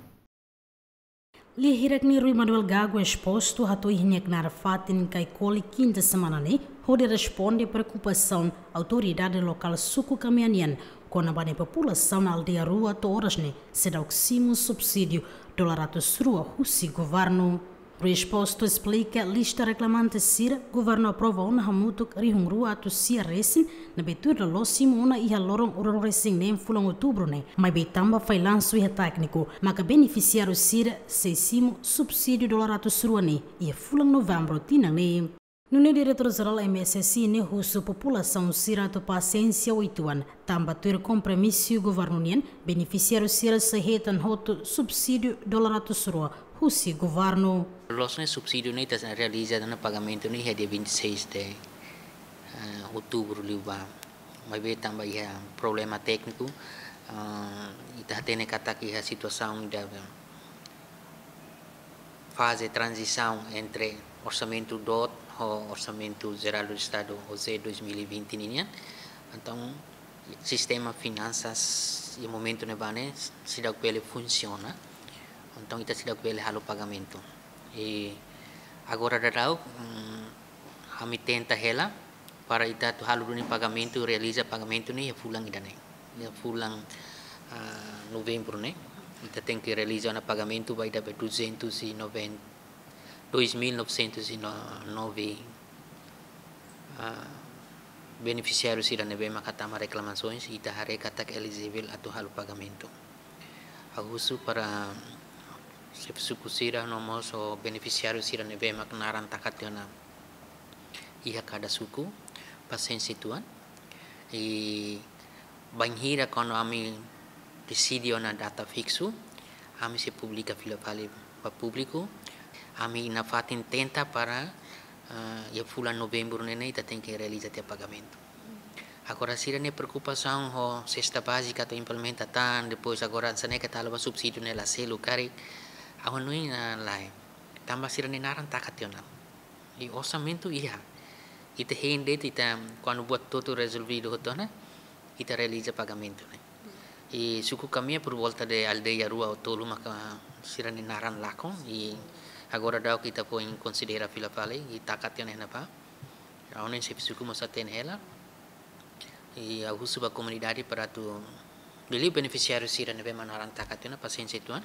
Lia hirak ne'e Rui Manuel Gago Exposto hato'o iha nia knaar fatin Caicoli kinta semana ne'e, hodi responde preokupasaun autoridade lokál suku Kamea nian, kona-ba nia populasaun aldeia rua to'o oras ne'e seidauk simu subsídiu dolar atus rua husi governu. Resposta esplika lista reklamante sira, governu aprova ona hamutuk rihun rua atus sia resin, ne'ebé tuir loloos simu ona iha loron ruanulu-resin-neen fulan Outubru ne'e, maibé tanba fallansu iha tékniku, maka benefisiáriu sira sei simu subsídiu dolar atus rua ne'e iha fulan Novembru tinan ne'e. Nune'e Diretór Jerál M S S I ne'e husu populasaun sira atu pasiénsia uitoan, tanba tuir kompromisu governu nian, benefisiáriu sira sei hetan hotu subsídiu dolar atus rua husi governu. Loos ne'e subsídiu ne'e ita realiza ona pagamentu ne'e iha dia vinte e seis de, eh, Outubru liubá. Maibé tanba iha problema tékniku, eh, ita hatene katak iha situasaun ida faze tranzisaun entre orsamentu DOT ho Orsamentu Jerál do Estadu, O J, dois mil e vinte ninian. Entaun, sistema finansas iha momentu ne'ebá ne'e seidauk bele funsiona. Entaun, ita seidauk bele halo pagamentu. I agora daudaun, mm, ami tenta hela para ita atu halo duni pagamentu, realiza pagamentu ne'e iha fulan ida-ne'e. Iha fulan, ah, Novembru ne'e, ita tenke realiza ona pagamentu ba ida be duzentos e noventa, dois mil novecentos e nove, ah, benefisiáriu sira ne'ebé maka tama reklamasoens, ita haree katak elijivel atu halo pagamentu. Ha'u husu para xefe suku sira no mós benefisiáriu sira ne'ebé mak naran taka tiha ona iha kada suku, pasiénsia uitoan. I bainhira kuandu ami deside ona data fiksu, ami sei publika fila fali ba públiku. Ami nafatin tenta para, eh, iha fulan Novembru ne'e ita tenke realiza tiha pagamentu. Agora sira-nia preokupasaun ho sesta bázika atu implementa tan, depois agora hanesan ne'e katak halo ba subsídiu ne'e la selu karik. Ha'u hanoin, ah, lae. Tanba sira-nia naran taka tiha ona. I orsamentu iha. Ita hein de'it, ita kuandu buat hotu rezolvidu hotu ona, ita realiza pagamentu ne'e. I suku Kamea por volta de aldeia rua ou tolu maka sira-nia naran lakon, i agora daudaun ita foin konsidera fila fali, i taka tiha ona iha ne'ebá. Ha'u hanoin xefe suku mós hatene hela. I ha'u husu ba komunidade para atu, liuliu benefisiáriu sira ne'ebé mak naran taka tiha ona, pasiénsia uitoan.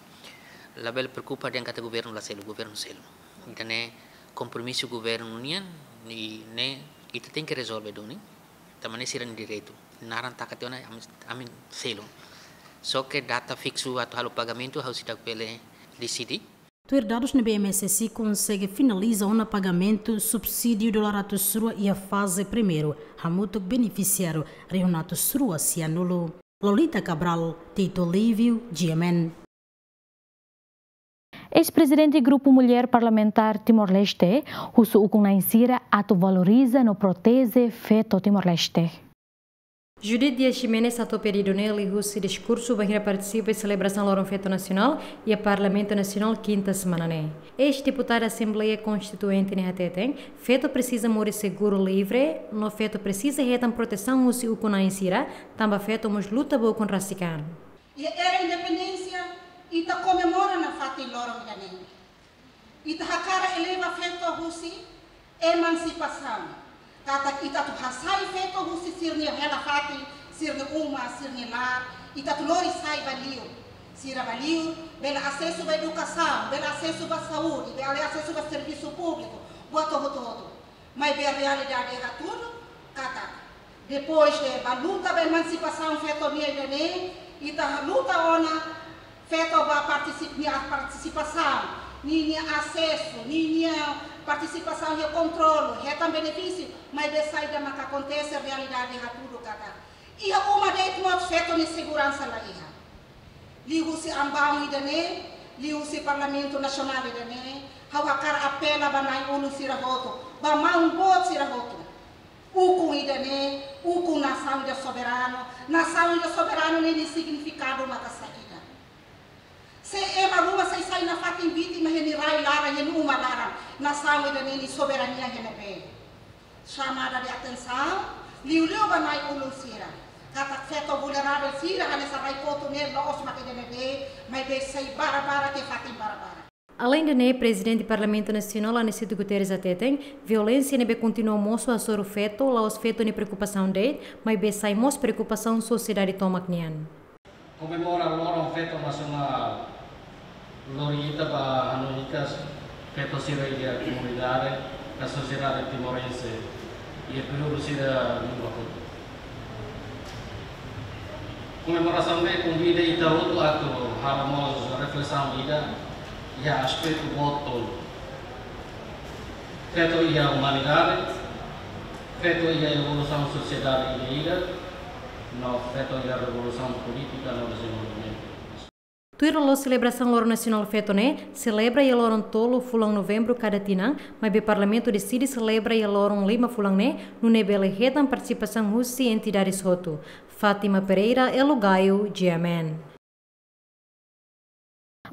Labele preokupa dehan katak governu la selu, governu selu. Ida-ne'e kompromisu governu nian, i ne'e ita tenke rezolve duni. Tanba ne'e sira-nia direitu. Naran taka tiha ona, ami, ami selu. Só ke data fiksu atu halo pagamentu, ha'u seidauk bele deside. Tuir dadus ne'ebé M S S I konsege finaliza ona pagamentu subsídiu dolar atus rua iha faze primeiru, hamutuk benefisiáriu rihun atus rua sianulu. Lolita Cabral, Tito Lívio, G M N. Eis-prezidente Grupu Mulher Parlamentár Timor-Leste husu ukun-na'in sira atu valoriza no proteje feto Timor-Leste. Judith Dias Ximenes hato'o pedidu ne'e liuhusi diskursu bainhira partisipa iha selebrasaun Loron Feto Nasionál iha Parlamentu Nasionál kinta semana ne'e. Eis-deputada Asembleia Konstituinte ne'e hateten, feto presiza moris seguru, livre, no feto presiza hetan protesaun husi ukun-na'in sira, tanba feto mós luta ba ukun rasik an. Iha era independénsia, ita komemora nafatin loron ida-ne'e. Ita hakarak eleva feto husi emansipasaun. Katak ita atu hasai feto husi sira-nia hela fatin, sira-nia uma, sira-nia laran, ita atu lori sai ba liur. Sira ba liur, bele asesu ba edukasaun, bele asesu ba saúde, bele asesu ba servisu públiku, buat hotu-hotu. Maibé realidade hatudu katak, depois de ba luta ba emansipasaun feto nian ida-ne'e, ita luta ona feto ba partisip-, nia partisipasaun, ninia asesu, ninia partisipasaun iha kontrolu, hetan benefísiu, maibé saida maka akontese, realidade hatudu katak iha uma de'it mós feto nia seguransa la iha. Liuhusi ambaun ida-ne'e, liuhusi Parlamentu Nasionál ida-ne'e, ha'u hakarak apela ba na'i-ulun sira hotu, ba maun boot sira hotu. Ukun ida-ne'e, ukun nasaun ida soberanu, nasaun ida soberanu ne'e nia signifikadu maka saida. Se ema ruma sai-sai nafatin vítima iha nia rai laran, iha nia uma laran, nasaun ida-ne'e nia soberania iha ne'ebé? Chamada de atensaun, liuliu ba na'i-ulun sira. Katak feto vulneravel sira, hanesan rai kotuk ne'e, la'ós mak ida ne'ebé, maibé sai barak-barak iha fatin barak-barak. Aleinde ne'e, Prezidente Parlamentu Nasionál Aniceto Guterres hateten, violénsia ne'ebé kontinua mosu hasoru feto, la'ós feto nia preokupasaun de'it, maibé sai mós preokupasaun sosiedade tomak nian. Komemora Loron Feto Nasionál, lori ita ba hanoin katak Feto sira iha komunidade, ka sosiedade timorense, iha períodu sira numa hotu. Komemorasaun ne'e konvida ita hotu atu halo mós reflesaun ida iha aspetu boot tolu. Feto iha umanidade, feto iha evolusaun sosiedade ida-idak, no feto iha revolusaun polítika no dezenvolvimentu. Tuir loloos selebrasaun Loron Nasionál Feto ne'e, selebra iha loron tolu fulan Novembru kada tinan, maibé Parlamentu deside selebra iha loron lima fulan ne'e, nune'e bele hetan partisipasaun husi entidades hotu. Fátima Pereira, Elo Gaio, G M N.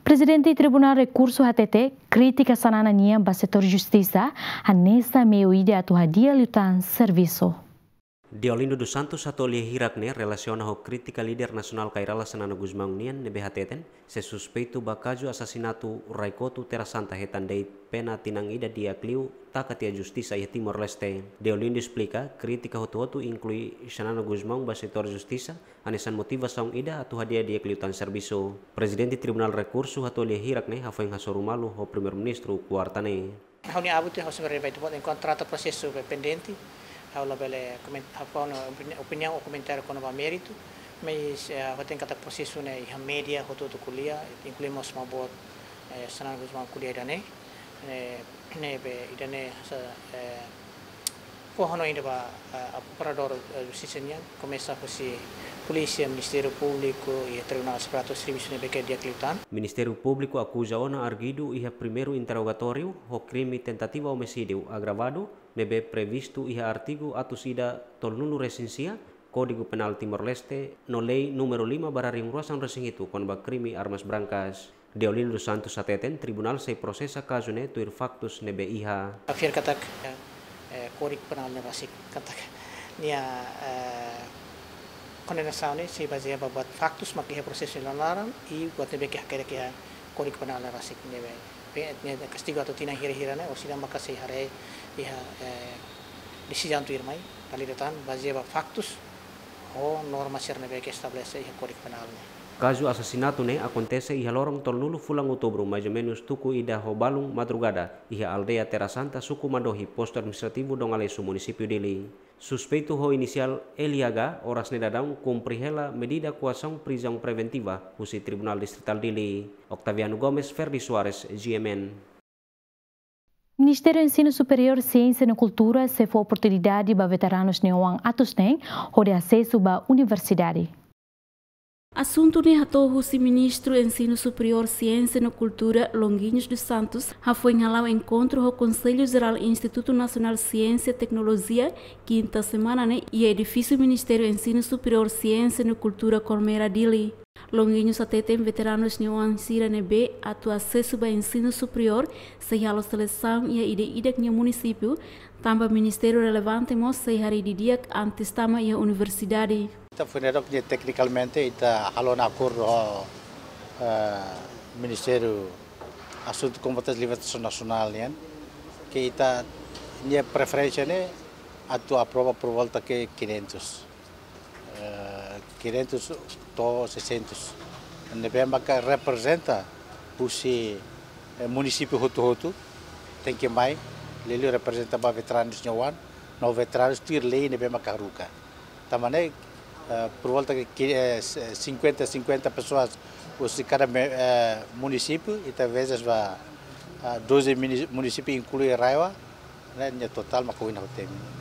Prezidente Tribunál Rekursu hatete, krítika Xanana nian ba setór justisa, hanesan meiu ida atu hadi'a liután servisu. Deolindo dos Santos hato'o lia hirak ne'e relasiona ho krítika líder nasionál Kay Rala Xanana Gusmão nian ne'ebé hateten, se suspeitu ba kazu asasinatu rai-kotu Terra Santa hetan de'it pena tinan ida di'ak liu taka tiha justisa iha Timor-Leste. Deolindo esplika, krítika hotu-hotu inklui Xanana Gusmão ba setór justisa, hanesan motivasaun ida atu hadi'a di'ak liután servisu. Prezidente Tribunál Rekursu hato'o lia hirak ne'e hafoin hasoru malu ho Primeiru-Ministru kuarta ne'e. Ha'u-nia abutre, ha'u sempre vai tu enkuantu trata prosesu be pendente. Ha'u labele komen-, ha'u fó ona opini-, opiniaun ou komentáriu kona-ba méritu. Mas, eh, ha'u hatene katak prosesu ne'e iha média hotu-hotu ko'alia, inklui mós maun boot, eh, Xanana Gusmão ko'alia ida-ne'e. Ne'e, ne'ebé ida-ne'e sa, eh, fó hanoin ida ba, eh, operadór, eh, justisa nian, komesa husi polísia, Ministériu Públiku, iha tribunál, para atu servisu ne'ebé ke di'ak liután. Ministériu Públiku akuza ona arguidu iha primeiru interrogatóriu ho krime tentativa omisídiu agravadu, ne'ebé previstu iha artigu atus ida tolunulu-resin-sia, Kódigu Penál Timor-Leste, no Lei númeru lima barra rihun rua sanulu-resin-hitu kona-ba krime armas brancas. Deolindo dos Santos hateten, tribunál sei prosesa kazu ne'e tuir faktus ne'ebé iha. Ha'u fiar katak, eh, Kódigu Penál ne'e rasik katak nia, eh, kondenasaun ne'e sei bazeia ba buat faktus mak iha prosesu nia laran, i buat ne'ebé ke hakerek iha Kódigu Penál ne'e rasik ne'ebé. Pe-, ne'e kastigu atu tinan hira-hira ne'e, orsida maka sei haree iha, eh, desizaun tuirmai, valida tan, bazeia ba faktus ho norma sira ne'ebé ke estabelese iha Kódigu Penál ne'e. Kazu asasinatu ne'e akontese iha loron tolunulu fulan Outubru, mais ou menus tuku ida ho balun madrugada, iha aldeia Terra Santa, suku Madohi, postu administrativu Dom Aleixo, munisípiu Dili. Suspeitu ho inisiál L H, oras ne'e daudaun kumpre hela medida koasaun prizaun preventiva husi Tribunál Distritál Dili. Octaviano Gomes, Ferdi Soares, G M N. Ministériu Ensinu Superiór, Siénsia no Kultura sei fó oportunidade ba veteranus nia oan atus neen hodi asesu ba universidade. Asuntu ne'e hato'o husi Ministru Ensinu Superiór, Siénsia no Kultura, Longuinhos dos Santos, hafoin hala'o enkontru ho Konsellu Jerál Institutu Nasionál Siénsia Teknolojia, kinta semana ne'e, iha edifísiu Ministériu Ensinu Superiór, Siénsia no Kultura, Colmera, Dili. Longuinhos hateten veteranus nia oan sira ne'ebé atu asesu ba ensinu superiór sei halo selesaun iha ida-idak nia munisípiu, tanba ministériu relevante mós sei haree didi'ak antes tama iha universidade. Ita foin ne'e dok nia teknikamente ita halo ona akordu ho, eh, Ministériu Asuntu Kombatentes Libertasaun Nasionál nian, ke ita-nia preferénsia ne'e atu aprova por volta ke quinhentos, eh, quinhentos to'o seiscentos. Ne'ebé maka reprezenta husi, eh, munisípiu hotu-hotu, tenke mai, liuliu reprezenta ba veteranus nia oan, no veteranus tuir lei ne'ebé maka haruka. Tanba ne'e, eh, por volta ke, eh, cinquenta, cinquenta pessoas husi kada me-, eh, munisípiu, ita vezes ba, ah, doze muni-, munisípiu inklui RAEOA, ne'e, nia totál maka oin ha'u temi.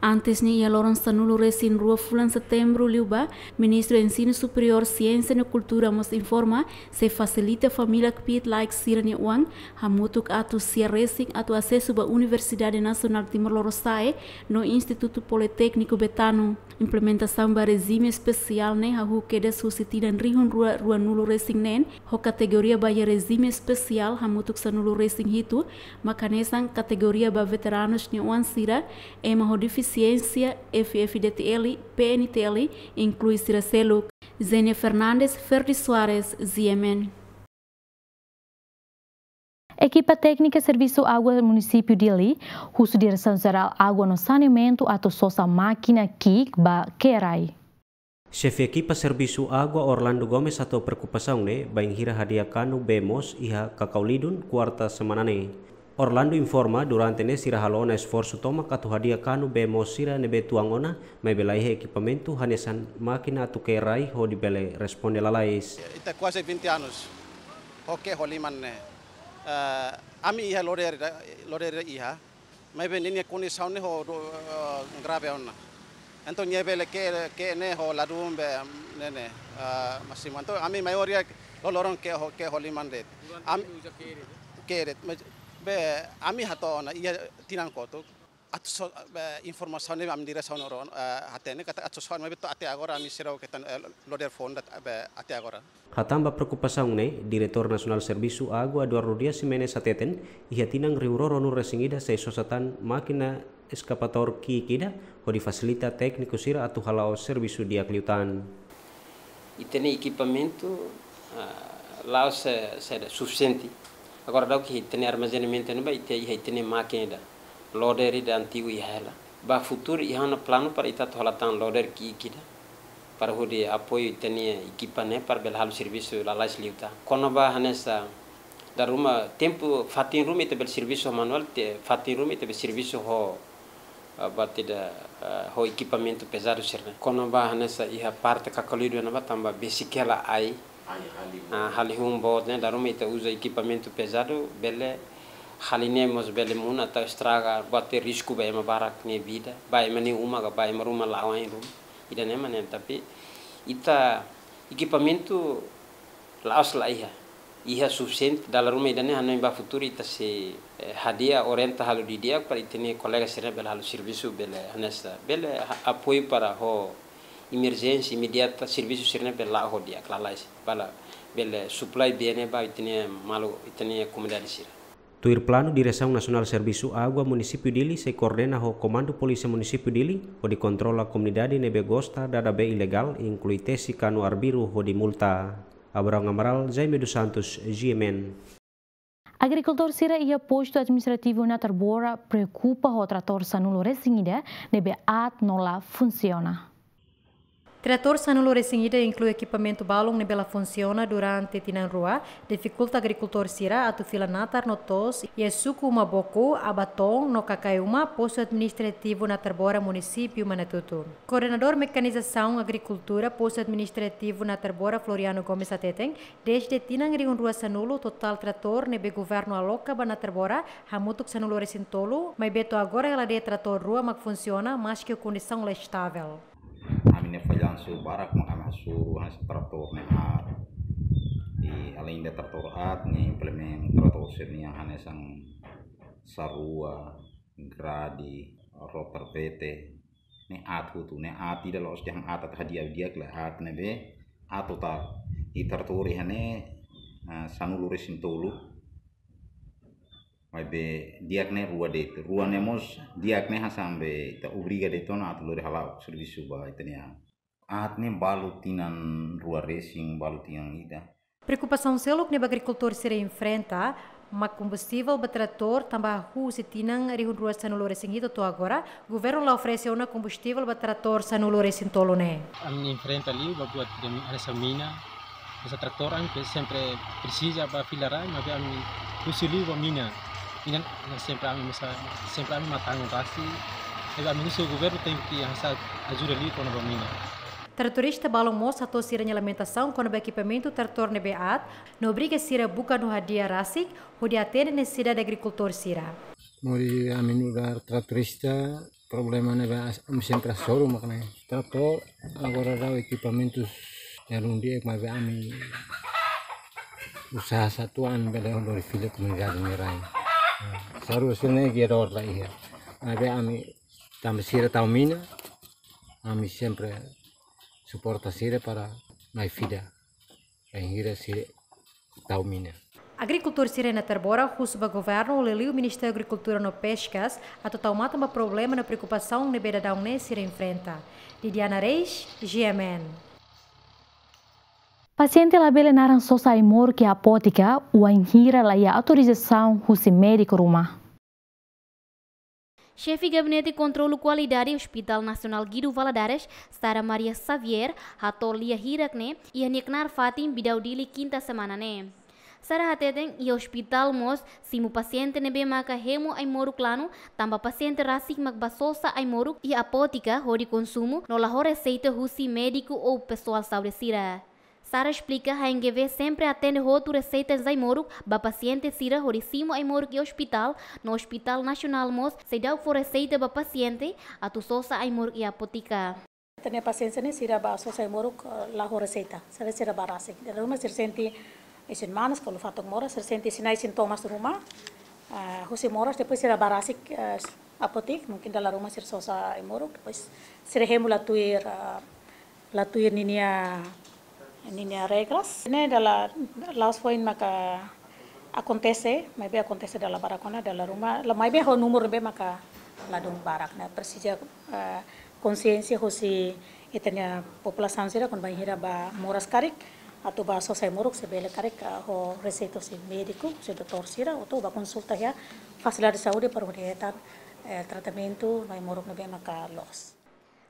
Antes ne'e iha loron sanulu-resin-rua fulan Setembru liubá, Ministru Ensinu Superiór, Siénsia no Kultura mós informa, sei fasilita família kbiit-laek sira-nia oan, hamutuk atus sia resin atu asesu ba Universidade Nasionál Timor Lorosa'e, no Institutu Politékniku Betano. Implementasaun ba rejime espesiál ne'e hahú kedas husi tinan rihun rua ruanulu-resin-neen, ho kategoria ba iha rejime espesiál hamutuk sanulu-resin-hitu, mak hanesan kategoria ba veteranus nia oan sira, ema ho defisiénsia, F F D T L, P N T L, inklui sira seluk. Zenia Fernandes, Ferdi Soares, G M N. Ekipa téknika Servisu Água Munisípiu Dili husu Diresaun Jerál Água no Saneamentu atu sosa mákina ki'ik ba kerai. Xefe ekipa Servisu Água Orlando Gomes hato'o preokupasaun ne'e bainhira hadi'a kanu bee moos iha Kakaulidun, kuarta semana ne'e. Orlando informa, durante ne'e sira halo ona esforsu tomak atu hadi'a kanu bee moos sira ne'ebé tuan ona, maibé laiha ekipamentu hanesan mákina atu ke'e rai hodi bele responde lalais. Ita kuaze vinte anos ho ke'e ho liman ne'e. Eh, ami iha loader, loader iha, maibé ninia kondisaun ne'e ho do, eh, grave ona. Entaun nia bele ke'e, ke'e ne'e ho ladún be ne'e ne'e, eh, masimu. Entaun ami maioria loroloron ke'e ho, ke'e ho liman de'it. Ami ke'e de'it. Mas be ami hato'o ona iha tinan kotuk. Atu sosa, be, informasaun ne'e ami diresaun oro, eh, hatene katak atu sosa ona, maibé to'o até agora ami seidauk hetan, eh, loader foun de'it, be, até agora. Hatán ba preokupasaun ne'e, Diretór Nasionál Servisu Água Eduardo Dias Ximenes hateten, iha tinan rihun rua ruanulu resin ida sei sosa tan mákina eskavatór ki'ik ida, hodi fasilita tékniku sira atu hala'o servisu di'ak liután. Ita-nia ekipamentu, ah, la'ós, eh, saida, sufisiente. Agora daudaun ita-nia armazenamentu ne'ebá, ita iha ita-nia mákina ida, loader ida antigu iha hela. Ba futuru iha ona planu para ita atu hala'o tan loader ki'ik ida, para hodi apoiu ita-nia ekipa ne'e para bele halo servisu lalais liután. Kona-ba hanesan, dala ruma tempu fatin ruma ita bele servisu manuál, te fatin ruma ita bele servisu ho, ah, buat ida, ah, ho ekipamentu pezadu sira-ne'e. Kona-ba hanesan iha parte Kakalidu ne'ebá tanba besik hela ai. Ai, hali. Ah, hali hun boot ne'e, dala ruma ita uza ekipamentu pezadu, bele hali ne'e mós bele monu atu estraga, buat risku ba ema barak nia vida, ba ema nia uma ka, ba ema ruma la'o ain ruma. Ida-ne'e mak ne'e, tapi ita ekipamentu la'ós laiha. Iha sufisiente, dala ruma ida-ne'e hanoin ba futuru ita sei, eh, hadi'a, orienta halo didi'ak para ita-nia kolega sira bele halo servisu, bele hanesan, bele ha-, apoiu para ho emerjénsia imediata, servisu sira-ne'e bele la'o ho di'ak lalais, para bele supply bee ne'e ba ita-nia maluk, ita-nia komunidade sira. Tuir planu, Diresaun Nasionál Servisu Água Munisípiu Dili sei koordena ho Komandu Polísia Munisípiu Dili, hodi kontrola komunidade ne'ebé gosta dada bee ilegál, inklui tesi kanu arbiru hodi multa. Abraham Amaral, Jaime dos Santos, G M N. Agrikultór sira iha Postu Administrativu Natarbora preokupa ho tratór sanulu resin ida ne'ebé aat no la funsiona. Tratór sanulu resin ida, inklui ekipamentu balun ne'ebé la funsiona durante tinan rua, difikulta agrikultór sira atu fila natar no to'os iha suku Uma Boku, Abaton no Kakaiuma, Postu Administrativu Natarbora, Munisípiu Manatuto. Koordenadór Mekanizasaun Agrikultura, Postu Administrativu Natarbora, Floriano Gomes hateten, dezde tinan rihun rua sanulu, totál tratór ne'ebé governu aloka ba Natarbora hamutuk sanulu resin tolu, maibé to'o agora hela de'it tratór rua mak funsiona, maski ho kondisaun la estável. Ami-nia fallansu barak mak ami hasoru hanesan tratór ne'e aat. I alende tratór aat, nia implementa tratór sira-nian hanesan sarua, grade, rotar vete, ne'e aat hotu, ne'e aat ida la'ós dehan aat atu hadi'a di'ak, lae, aat ne'ebé aat totál. I tratór iha ne'e, ah, sanulu resin tolu. Maibé di'ak ne'e rua de'it. Rua ne'e mós di'ak ne'e hanesan be ita obriga de'it ona atu lori hala'o servisu ba ita-nia. Aat ne'e balu tinan rua resin, balu tinan ida. Preokupasaun seluk ne'ebé agrikultór sira enfrenta mak kombustivel ba tratór, tanba husi tinan rihun rua sanulu resin ida to'o agora, governu la oferese ona kombustivel ba tratór sanulu resin tolu ne'e. Ami enfrenta liu ba buat ida hanesan mina, hanesan tratór ami ke sempre presiza ba fila rai, maibé ami husu liu ba mina. Mina, sempre ami masa, sempre ami mak tangun rasik, maibé ami husu governu tenke hanesan ajuda liu kona-ba mina. Tratorista balun mós hato'o sira-nia lamentasaun kona-ba ekipamentu tratór ne'ebé aat, no obriga sira buka no hadi'a rasik, hodi atende nesesidade agrikultór sira. Mori ami nu'udar tratorista, problema ne'ebé as-, ami sempre hasoru mak ne'e. Tratór, agora daudaun ekipamentus ne'e ruma de'it, maibé ami usaha satuan bele lori fila komunidade nia rai. Sarua sira-ne'e gedor la iha. Maibé ami tanba sira tau mina, ami sempre suporta sira para mai fila. Bainhira sira tau mina. Agrikultór sira iha Natarbora husu ba governu, liuliu Ministériu Agrikultura no Peskas, atu tau matan ba problema no preokupasaun ne'ebé daudaun ne'e sira enfrenta. Didiana Reis, G M N. Pasiente labele naran sosa ai-moruk iha apóteka, wainhira laiha autorizasaun husi médiku ruma. Xefe Gabinete Kontrolu Kualidade Hospital Nasionál Guido Valadares, Sara Maria Xavier, hato'o lia hirak ne'e iha nia knaar fatin Bidau Dili, kinta semana ne'e. Sara hateten iha ospitál mós simu pasiente ne'ebé maka hemu ai-moruk lanu, tanba pasiente rasik mak bá sosa ai-moruk iha apóteka hodi konsumu no la ho reseita husi médiku ou pesoál saúde sira. Sara esplika H N G V sempre atende hotu reseita ai-moruk ba pasiente sira hodi simu ai-moruk iha ospitál, no Ospitál Nasionál mós seidauk fó reseita ba pasiente atu sosa ai-moruk iha apóteka. Ita-nia pasiente ne'e sira bá sosa ai-moruk, eh, la ho reseita. Sira, sira bá rasik. Dala ruma sira sente isin-manas ka ulu-fatuk moras, sira sente sinais sintomas ruma. Ah, husi moras, depois sira bá rasik, eh, apóteka, mungkin dala ruma sira sosa ai-moruk, depois sira hemu la tuir, ah, la tuir ninia, ninia regras. Ne'e dala, la'ós foin maka akontese, maibé akontese dala barak ona, dala ruma, la maibé ho númeru ne'ebé maka ladún barak, ne'e presiza, eh, konsiénsia husi ita-nia populasaun sira kuandu bainhira bá moras karik, atu bá sosa ai-moruk se bele karik, eh, ho reseita husi médiku, husi doutór sira, atu bá konsulta iha fasilidade saúde para hodi hetan, eh, tratamentu no ai-moruk ne'ebé maka loos.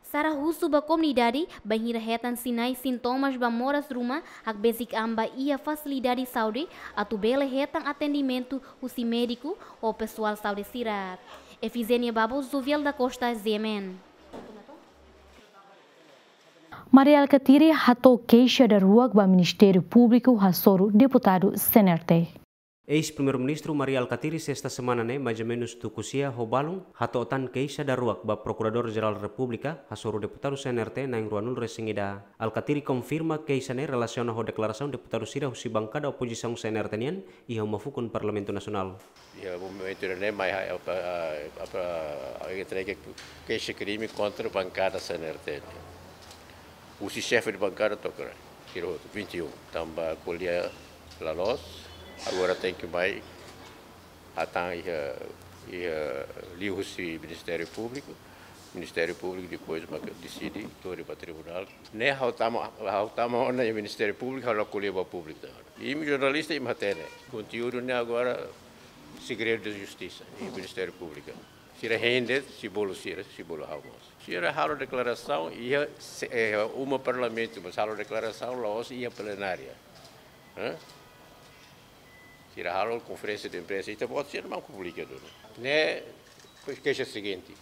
Sara husu ba komunidade, bainhira hetan sinais sintomas ba moras ruma, hakbesik an bá iha fasilidade saúde, atu bele hetan atendimentu husi médiku ou pesoál saúde sira. Efizenia Babo, Zuviel da Costa, Z M N. Mari Alkatiri hato'o keixa daruak ba Ministériu Públiku hasoru deputadu C N R T. Eis-Primeiru-Ministru Mari Alkatiri sesta semana ne'e, mais ou menus tuku sia ho balun, hato'o tan keixa daruak ba Prokuradór-Jerál Repúblika, hasoru deputadu C N R T na'in ruanulu resin ida. Alkatiri konfirma keixa ne'e relasiona ho deklarasaun deputadu sira husi bankada opozisaun C N R T nian iha uma fukun Parlamentu Nasionál. Iha momentu ne'e mai ha-, apa, apa, entrega keixa krime kontra bankada C N R T nian. Husi xefe de bankada to'o sira hotu, vinte e um. Tanba ko'alia la loos, agora tenke mai hatán iha, iha liuhusi Ministériu Públiku. Ministériu Públiku depois mak deside, to'o ba tribunál. Ne'e ha'u tama, ha'u tama ona iha Ministériu Públiku, ha'u la ko'alia ba públiku. Imi jornalista imi hatene. Konteúdu ne'e agora segredu de justisa iha Ministériu Públiku. Sira hein de'it, sei bolu sira, sei bolu ha'u mós. Sira halo deklarasaun iha se-, eh, uma Parlamentu, mas halo deklarasaun la'ós iha plenária. Hã? Sira halo konferénsia de imprensa, ita-boot sira mak publika duni. Ne'e, pois keixa seguinte.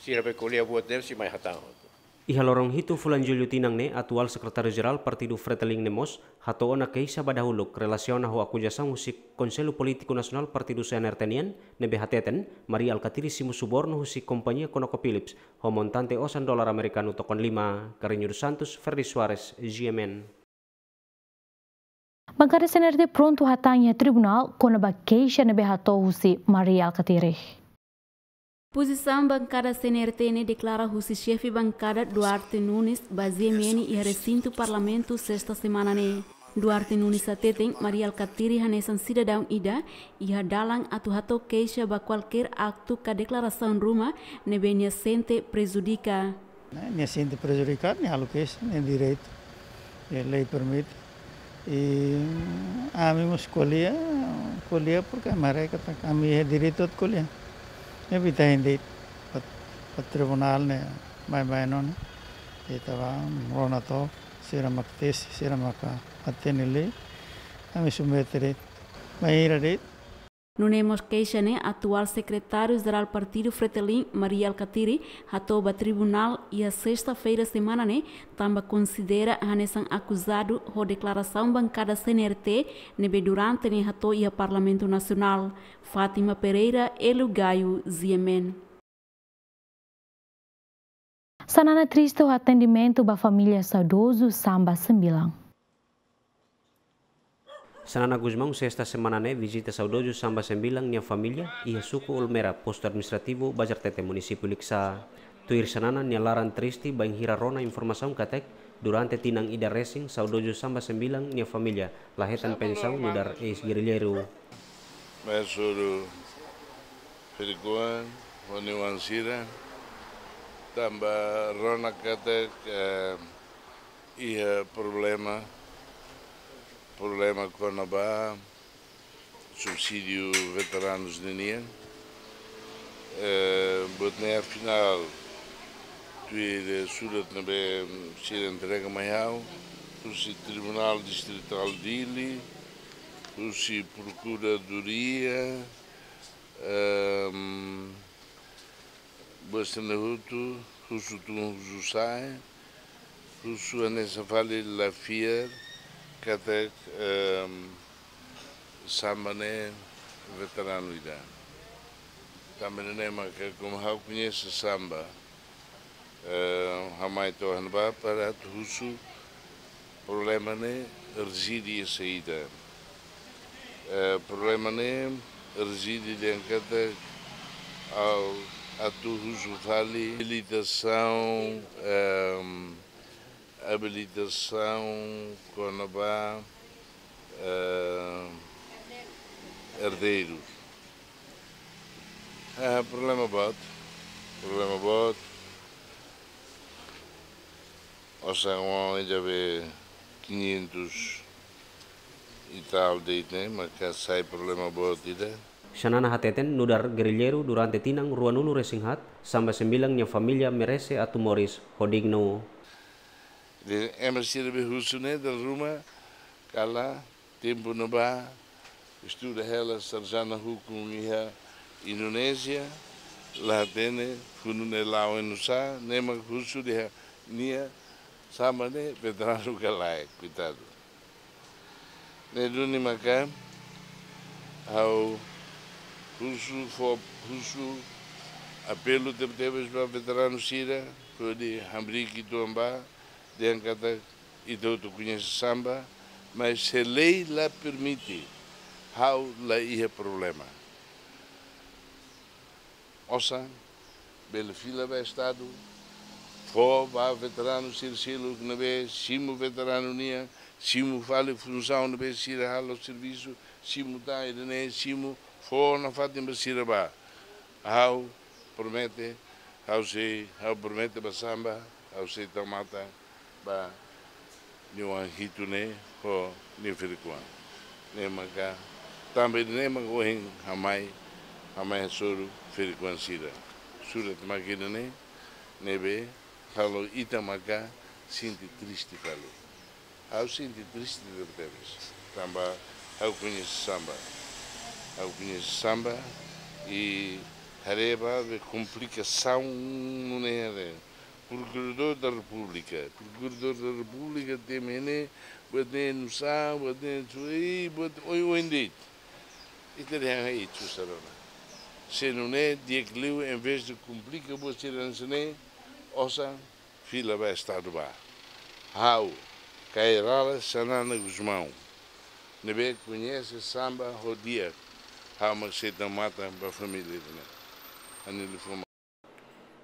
Sira bá ko'alia buat ne'e, sei mai hatán. Iha loron hitu fulan Jullu tinan ne'e, atuál Sekretáriu-Jerál Partidu Fretilin ne'e mós hato'o ona keixa ba dahuluk relasiona ho akuzasaun husi Konsellu Polítiku Nasionál Partidu C N R T nian, ne'ebé hateten Mari Alkatiri simu subornu husi kompañia ConocoPhillips ho montante osan dolar amerikanu tokon lima. Carrinho dos Santos, Ferdi Soares, G M N. Bankada C N R T prontu hatán iha tribunál kona-ba keixa ne'ebé hato'o husi Mari Alkatiri. Pozisaun bankada C N R T ne'e deklara husi xefe bankada Duarte Nunes ba Z M N iha resintu Parlamentu sesta semana ne'e. Duarte Nunes hateten Mari Alkatiri hanesan sidadaun ida iha dalan atu hato'o keixa ba kualkér aktu ka deklarasaun ruma ne'ebé nia sente prejudika. Ne'e, nia sente prejudikadu, nia halo keixa, nia direitu, eh, lei permite. I, mm, ami mós ko'alia, ko'alia porke ami haree katak ami iha direitu atu ko'alia. Ne'ebé ita hein de'it ba, ba tribunál ne'e, baibain ona. Ita bá rona to'ok, sira mak tesi, sira mak hatene lei, ami submete de'it. Bainhira de'it. Nune'e mós keixa ne'e atuál Sekretáriu-Jerál Partidu Fretilin, Mari Alkatiri, hato'o ba tribunál iha sesta-feira semana ne'e, tanba konsidera hanesan akuzadu ho deklarasaun bankada C N R T ne'ebé durante ne'e hato'o iha Parlamentu Nasionál. Fátima Pereira, Hélio Gaio, Z M N. Xanana triste ho atendimentu ba família saudozu Samba Sembilan. Xanana Gusmão, sesta semana ne'e, vizita saudozu Samba Sembilan nia família iha suku Olmera, postu administrativu Bazartete, munisípiu Likisá. Tuir Xanana, nia laran triste bainhira rona informasaun katak, durante tinan ida resin, saudozu Samba Sembilan nia família la hetan pensaun nu'udar eis-gerrilleiru. Mai hasoru ferik-oan, ho nia oan sira, tanba rona katak, eh, iha problema, problema kona-ba subsídiu veteranus ninian. Eh, buat ne'e afinál, tuir surat ne'ebé sira entrega mai ha'u, husi Tribunál Distritál Dili, Husi Prokuradoria, ehm, buat sira-ne'e hotu, husu tun, husu sa'e, husu hanesan fali la fiar katak, ehm, samba ne'e veteranu ida. Tanba ne'e maka, komu ha'u koñese samba, eh, ha'u mai to'o iha ne'ebá para atu husu problema ne'e rezide iha saida. Eh, problema ne'e rezide dehan katak ha'u atu husu fali abilitasaun, ehm, abilitasaun kona-ba, eh, erdeiru. Ah, problema boot, problema boot. Osan oan ida be quinhentos e tal de'it ne'e, maka sai problema boot ida. Xanana hateten nu'udar gerilleiru durante tinan ruanulu-resin-haat, samba sembilan nia família merese atu moris ho dignu. Dehan ema sira be husu ne'e dala ruma, kala tempu ne'ebá estuda hela sarjana hukum iha Indonézia, la hatene funu ne'e la'o oinsá, ne'e mak husu dehan nia samba ne'e veteranu ka lae, koitadu. Ne'e duni maka ha'u husu fó, husu apelu tebetebes ba veteranu sira, hodi hamriik uitoan ba, dehan katak ita hotu koñese samba, mas se lei la permite, ha'u la iha problema. Osan bele fila ba Estadu, fó ba veteranu sira seluk ne'ebé simu veteranu nian, simu fali funsaun ne'ebé sira halo servisu, simu tan ida-ne'e, simu fó nafatin ba sira ba. Ha'u promete, ha'u sei, ha'u promete ba samba, ha'u sei tau matan ba nia oan hitu ne'e ho nia ferik-oan. Ne'e maka, tanba ida-ne'e maka ohin ha'u mai, ha'u mai hasoru ferik-oan sira. Surat maka ida-ne'e, ne'ebé halo ita maka sente triste fali. Ha'u sente triste tebetebes. Tanba ha'u koñese samba. Ha'u koñese samba i haree ba be komplikasaun nune'e haree. Prokuradór da Repúblika. Prokuradór da Repúblika temi ne'e, buat ne'e nusá, buat ne'e sui, buat oioin de'it. Ita dehan ai, susar ona. Se nune'e di'ak liu, envezde komplika buat sira hanesan ne'e, osan fila ba Estadu ba. Ha'u, Kay Rala Xanana Gusmão, ne'ebé koñese samba ho di'ak, ha'u mak sei tau matan ba família ida-ne'e. Ha'u-nia liafuan.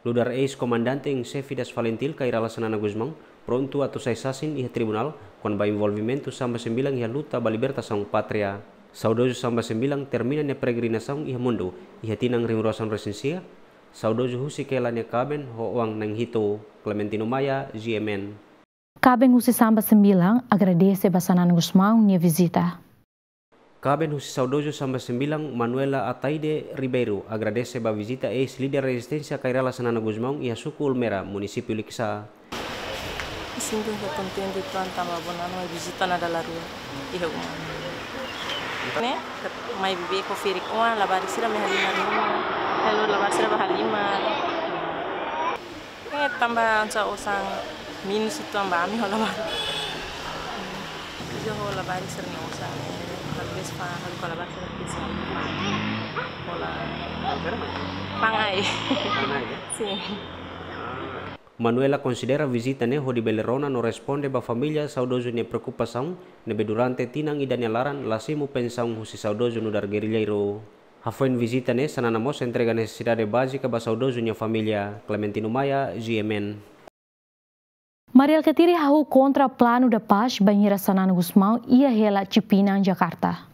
Nu'udar eis-komandante em xefe das FALINTIL, Kay Rala Xanana Gusmão, prontu atu sai sasin iha tribunál kona-ba envolvimentu samba sembilan iha luta ba libertasaun pátria. Saudozu samba sembilan termina nia peregrinasaun iha mundu iha tinan rihun rua sanulu resin sia. Saudozu husik hela nia kaben ho oan na'in hitu. Clementino Maia, G M N. Kaben husi samba sembilan agradese ba Xanana Gusmão nia vizita. Kaben husi saudozu samba sembilan, Manuela Ataide Ribeiro, agradese ba vizita eis-líder rezisténsia Kay Rala Xanana Gusmão iha suku Ulmera, munisípiu Likisá. Sinto kontente uitoan tanba Xanana mai vizita ona dala rua iha uma. Ne'e, mai bibi ho ferik-oan, labarik sira mai halimar uma. Halo labarik sira ba halimar. Eh, tanba anca osan minus uitoan ba ami ho labarik. Ida ho labarik sira-nia osan ne'e, talvés ba halo ho labarik sira-nia osan. Hola. Fa'an ai. Fa'an ai, ya? Sin. Manuela konsidera vizita ne'e hodi bele rona no responde ba família saudozu nia preokupasaun, ne'ebé durante tinan ida nia laran la simu pensaun husi saudozu nu'udar gerilleiru. Hafoin vizita ne'e, Xanana mós entrega nesesidade bázika ba saudozu nia família. Clementino Maia, G M N. Mari Alkatiri hahú kontra Plano da Paz bainhira Xanana Gusmão iha hela Cipinang, Jakarta.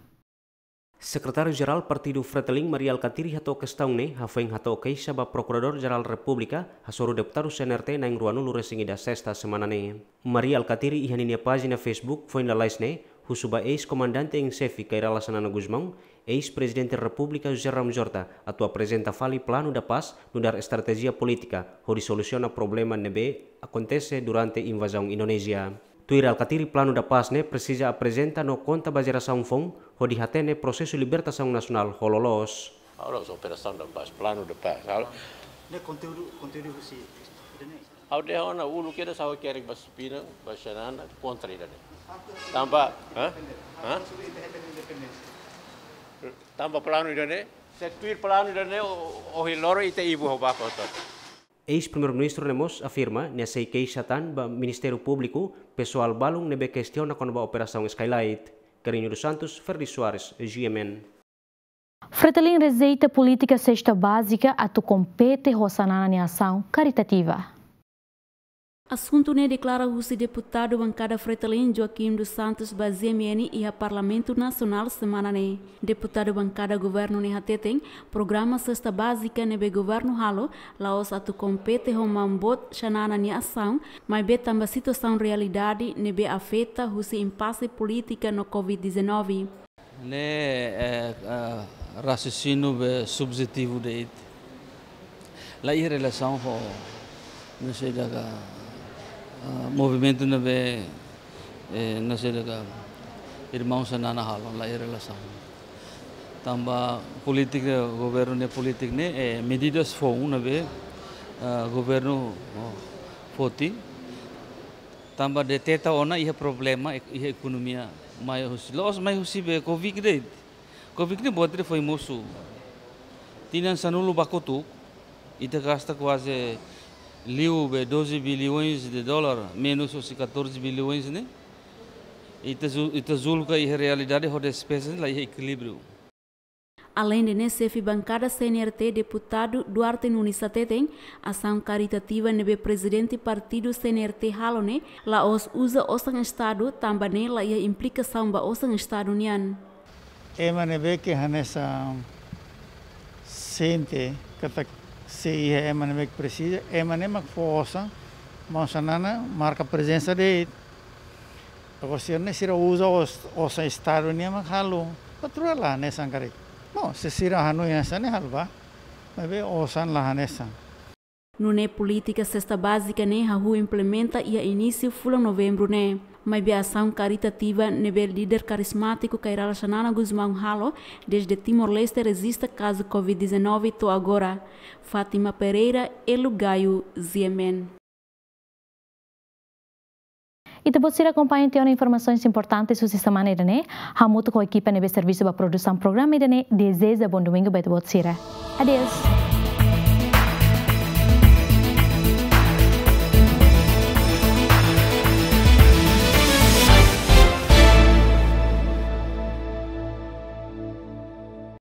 Sekretáriu-Jerál Partidu Fretilin, Mari Alkatiri, hato'o kestaun ne'e hafoin hato'o keixa ba Prokuradór-Jerál Repúblika hasoru deputadu C N R T na'in ruanulu resin ida, sesta semana ne'e. Mari Alkatiri iha ninia pájina Facebook foin lalais ne'e husu ba eis-komandante em xefe Kay Rala Xanana Gusmão, eis-Prezidente Repúblika José Ramos Horta atu aprezenta fali Plano da Paz nu'udar estratéjia polítika hodi solusiona problema ne'ebé akontese durante invazaun Indonézia. Tuir Alkatiri, Plano da Paz ne'e presiza aprezenta no konta ba jerasaun foun hodi hatene prosesu libertasaun nasionál ho loloos. Halo operasaun da paz, plano da paz. Halo. Ne'e konteúdu, konteúdu husi ida-ne'e. Ha'u dehan ona uluk kedas ha'u hakerek ba Sipinang, ba Xanana, kontra ida-ne'e. Tanba, ha? Ha? Tanba plano ida-ne'e, se tuir plano ida-ne'e, o, ohin loron ita ibu ho baku hotu. Eis-Primeiru-Ministru ne'e mós afirma nia sei keixa tan ba Ministériu Públiku pesoál balun ne'ebé kestiona kona-ba Operasaun Skylight. Carrinho dos Santos, Ferdi Soares, G M N. Fretilin rejeita polítika sesta bázika atu kompete ho Xanana nia asaun karitativa. Asuntu ne'e deklara husi deputadu bankada Fretilin Joaquim dos Santos ba G M N iha Parlamentu Nasionál semana ne'e. Deputadu bankada governu ne'e hateten, programa sesta bázika ne'ebé governu halo la'ós atu kompete ho maun boot Xanana nia asaun, maibé tanba situasaun realidade ne'ebé afeta husi impase polítika no covid dezanove. Ne'e, eh, eh, raciocínio be subjetivo de'it. La iha relasaun ho, no sei daka, ah, movimentu ne'ebé, eh, no sei daka, irmaun Xanana halo, la iha relasaun. Tanba polítika, governu ne'e polítika ne'e, eh, medidas foun ne'ebé, ah, governu, oh, foti. Tanba deteta ona iha problema ek-, iha ekonomia mai husi, la'ós mai husi be covid de'it. Covid ne'e buat ne'e foin mosu. Tinan sanulu ba kotuk, ita gasta kuaze liu be doze bilhões de dólar, menus husi catorze bilhões ne'e. Ita ju-, ita julga iha realidade ho despeza la iha ekilíbriu. Aleinde ne'e, xefe bankada C N R T, deputadu Duarte Nunes hateten, asaun karitativa ne'ebé prezidente partidu C N R T halo ne'e la'ós uza osan Estadu, tanba ne'e la iha implikasaun ba osan Estadu nian. Ema ne'ebé ke hanesan sente katak se iha ema ne'ebé ke presiza, ema ne'e mak fó osan, maun Xanana marka prezensa de'it. Agora, se ne'e sira uza os-, osan Estadu nian mak halo, patrua la hanesan karik. Bom, se sira hanoin hanesan ne'e halo ba, maibé osan la hanesan. Nune'e polítika sesta bázika ne'e hahú implementa iha inísiu fulan Novembru ne'e. Maibé asaun karitativa ne'ebé líder karizmátiku Kay Rala Xanana Gusmão halo dezde Timor-Leste rejista kazu covid dezanove to'o agora. Fátima Pereira, Elu Gayo, G M N. Ita-boot sira akompaña tiha ona informasaun importante husi semana ida-ne'e, hamutuk ho ekipa ne'ebé servisu ba produsaun programa ida-ne'e, dezeja bom domingo ba ita-boot sira. Adeus.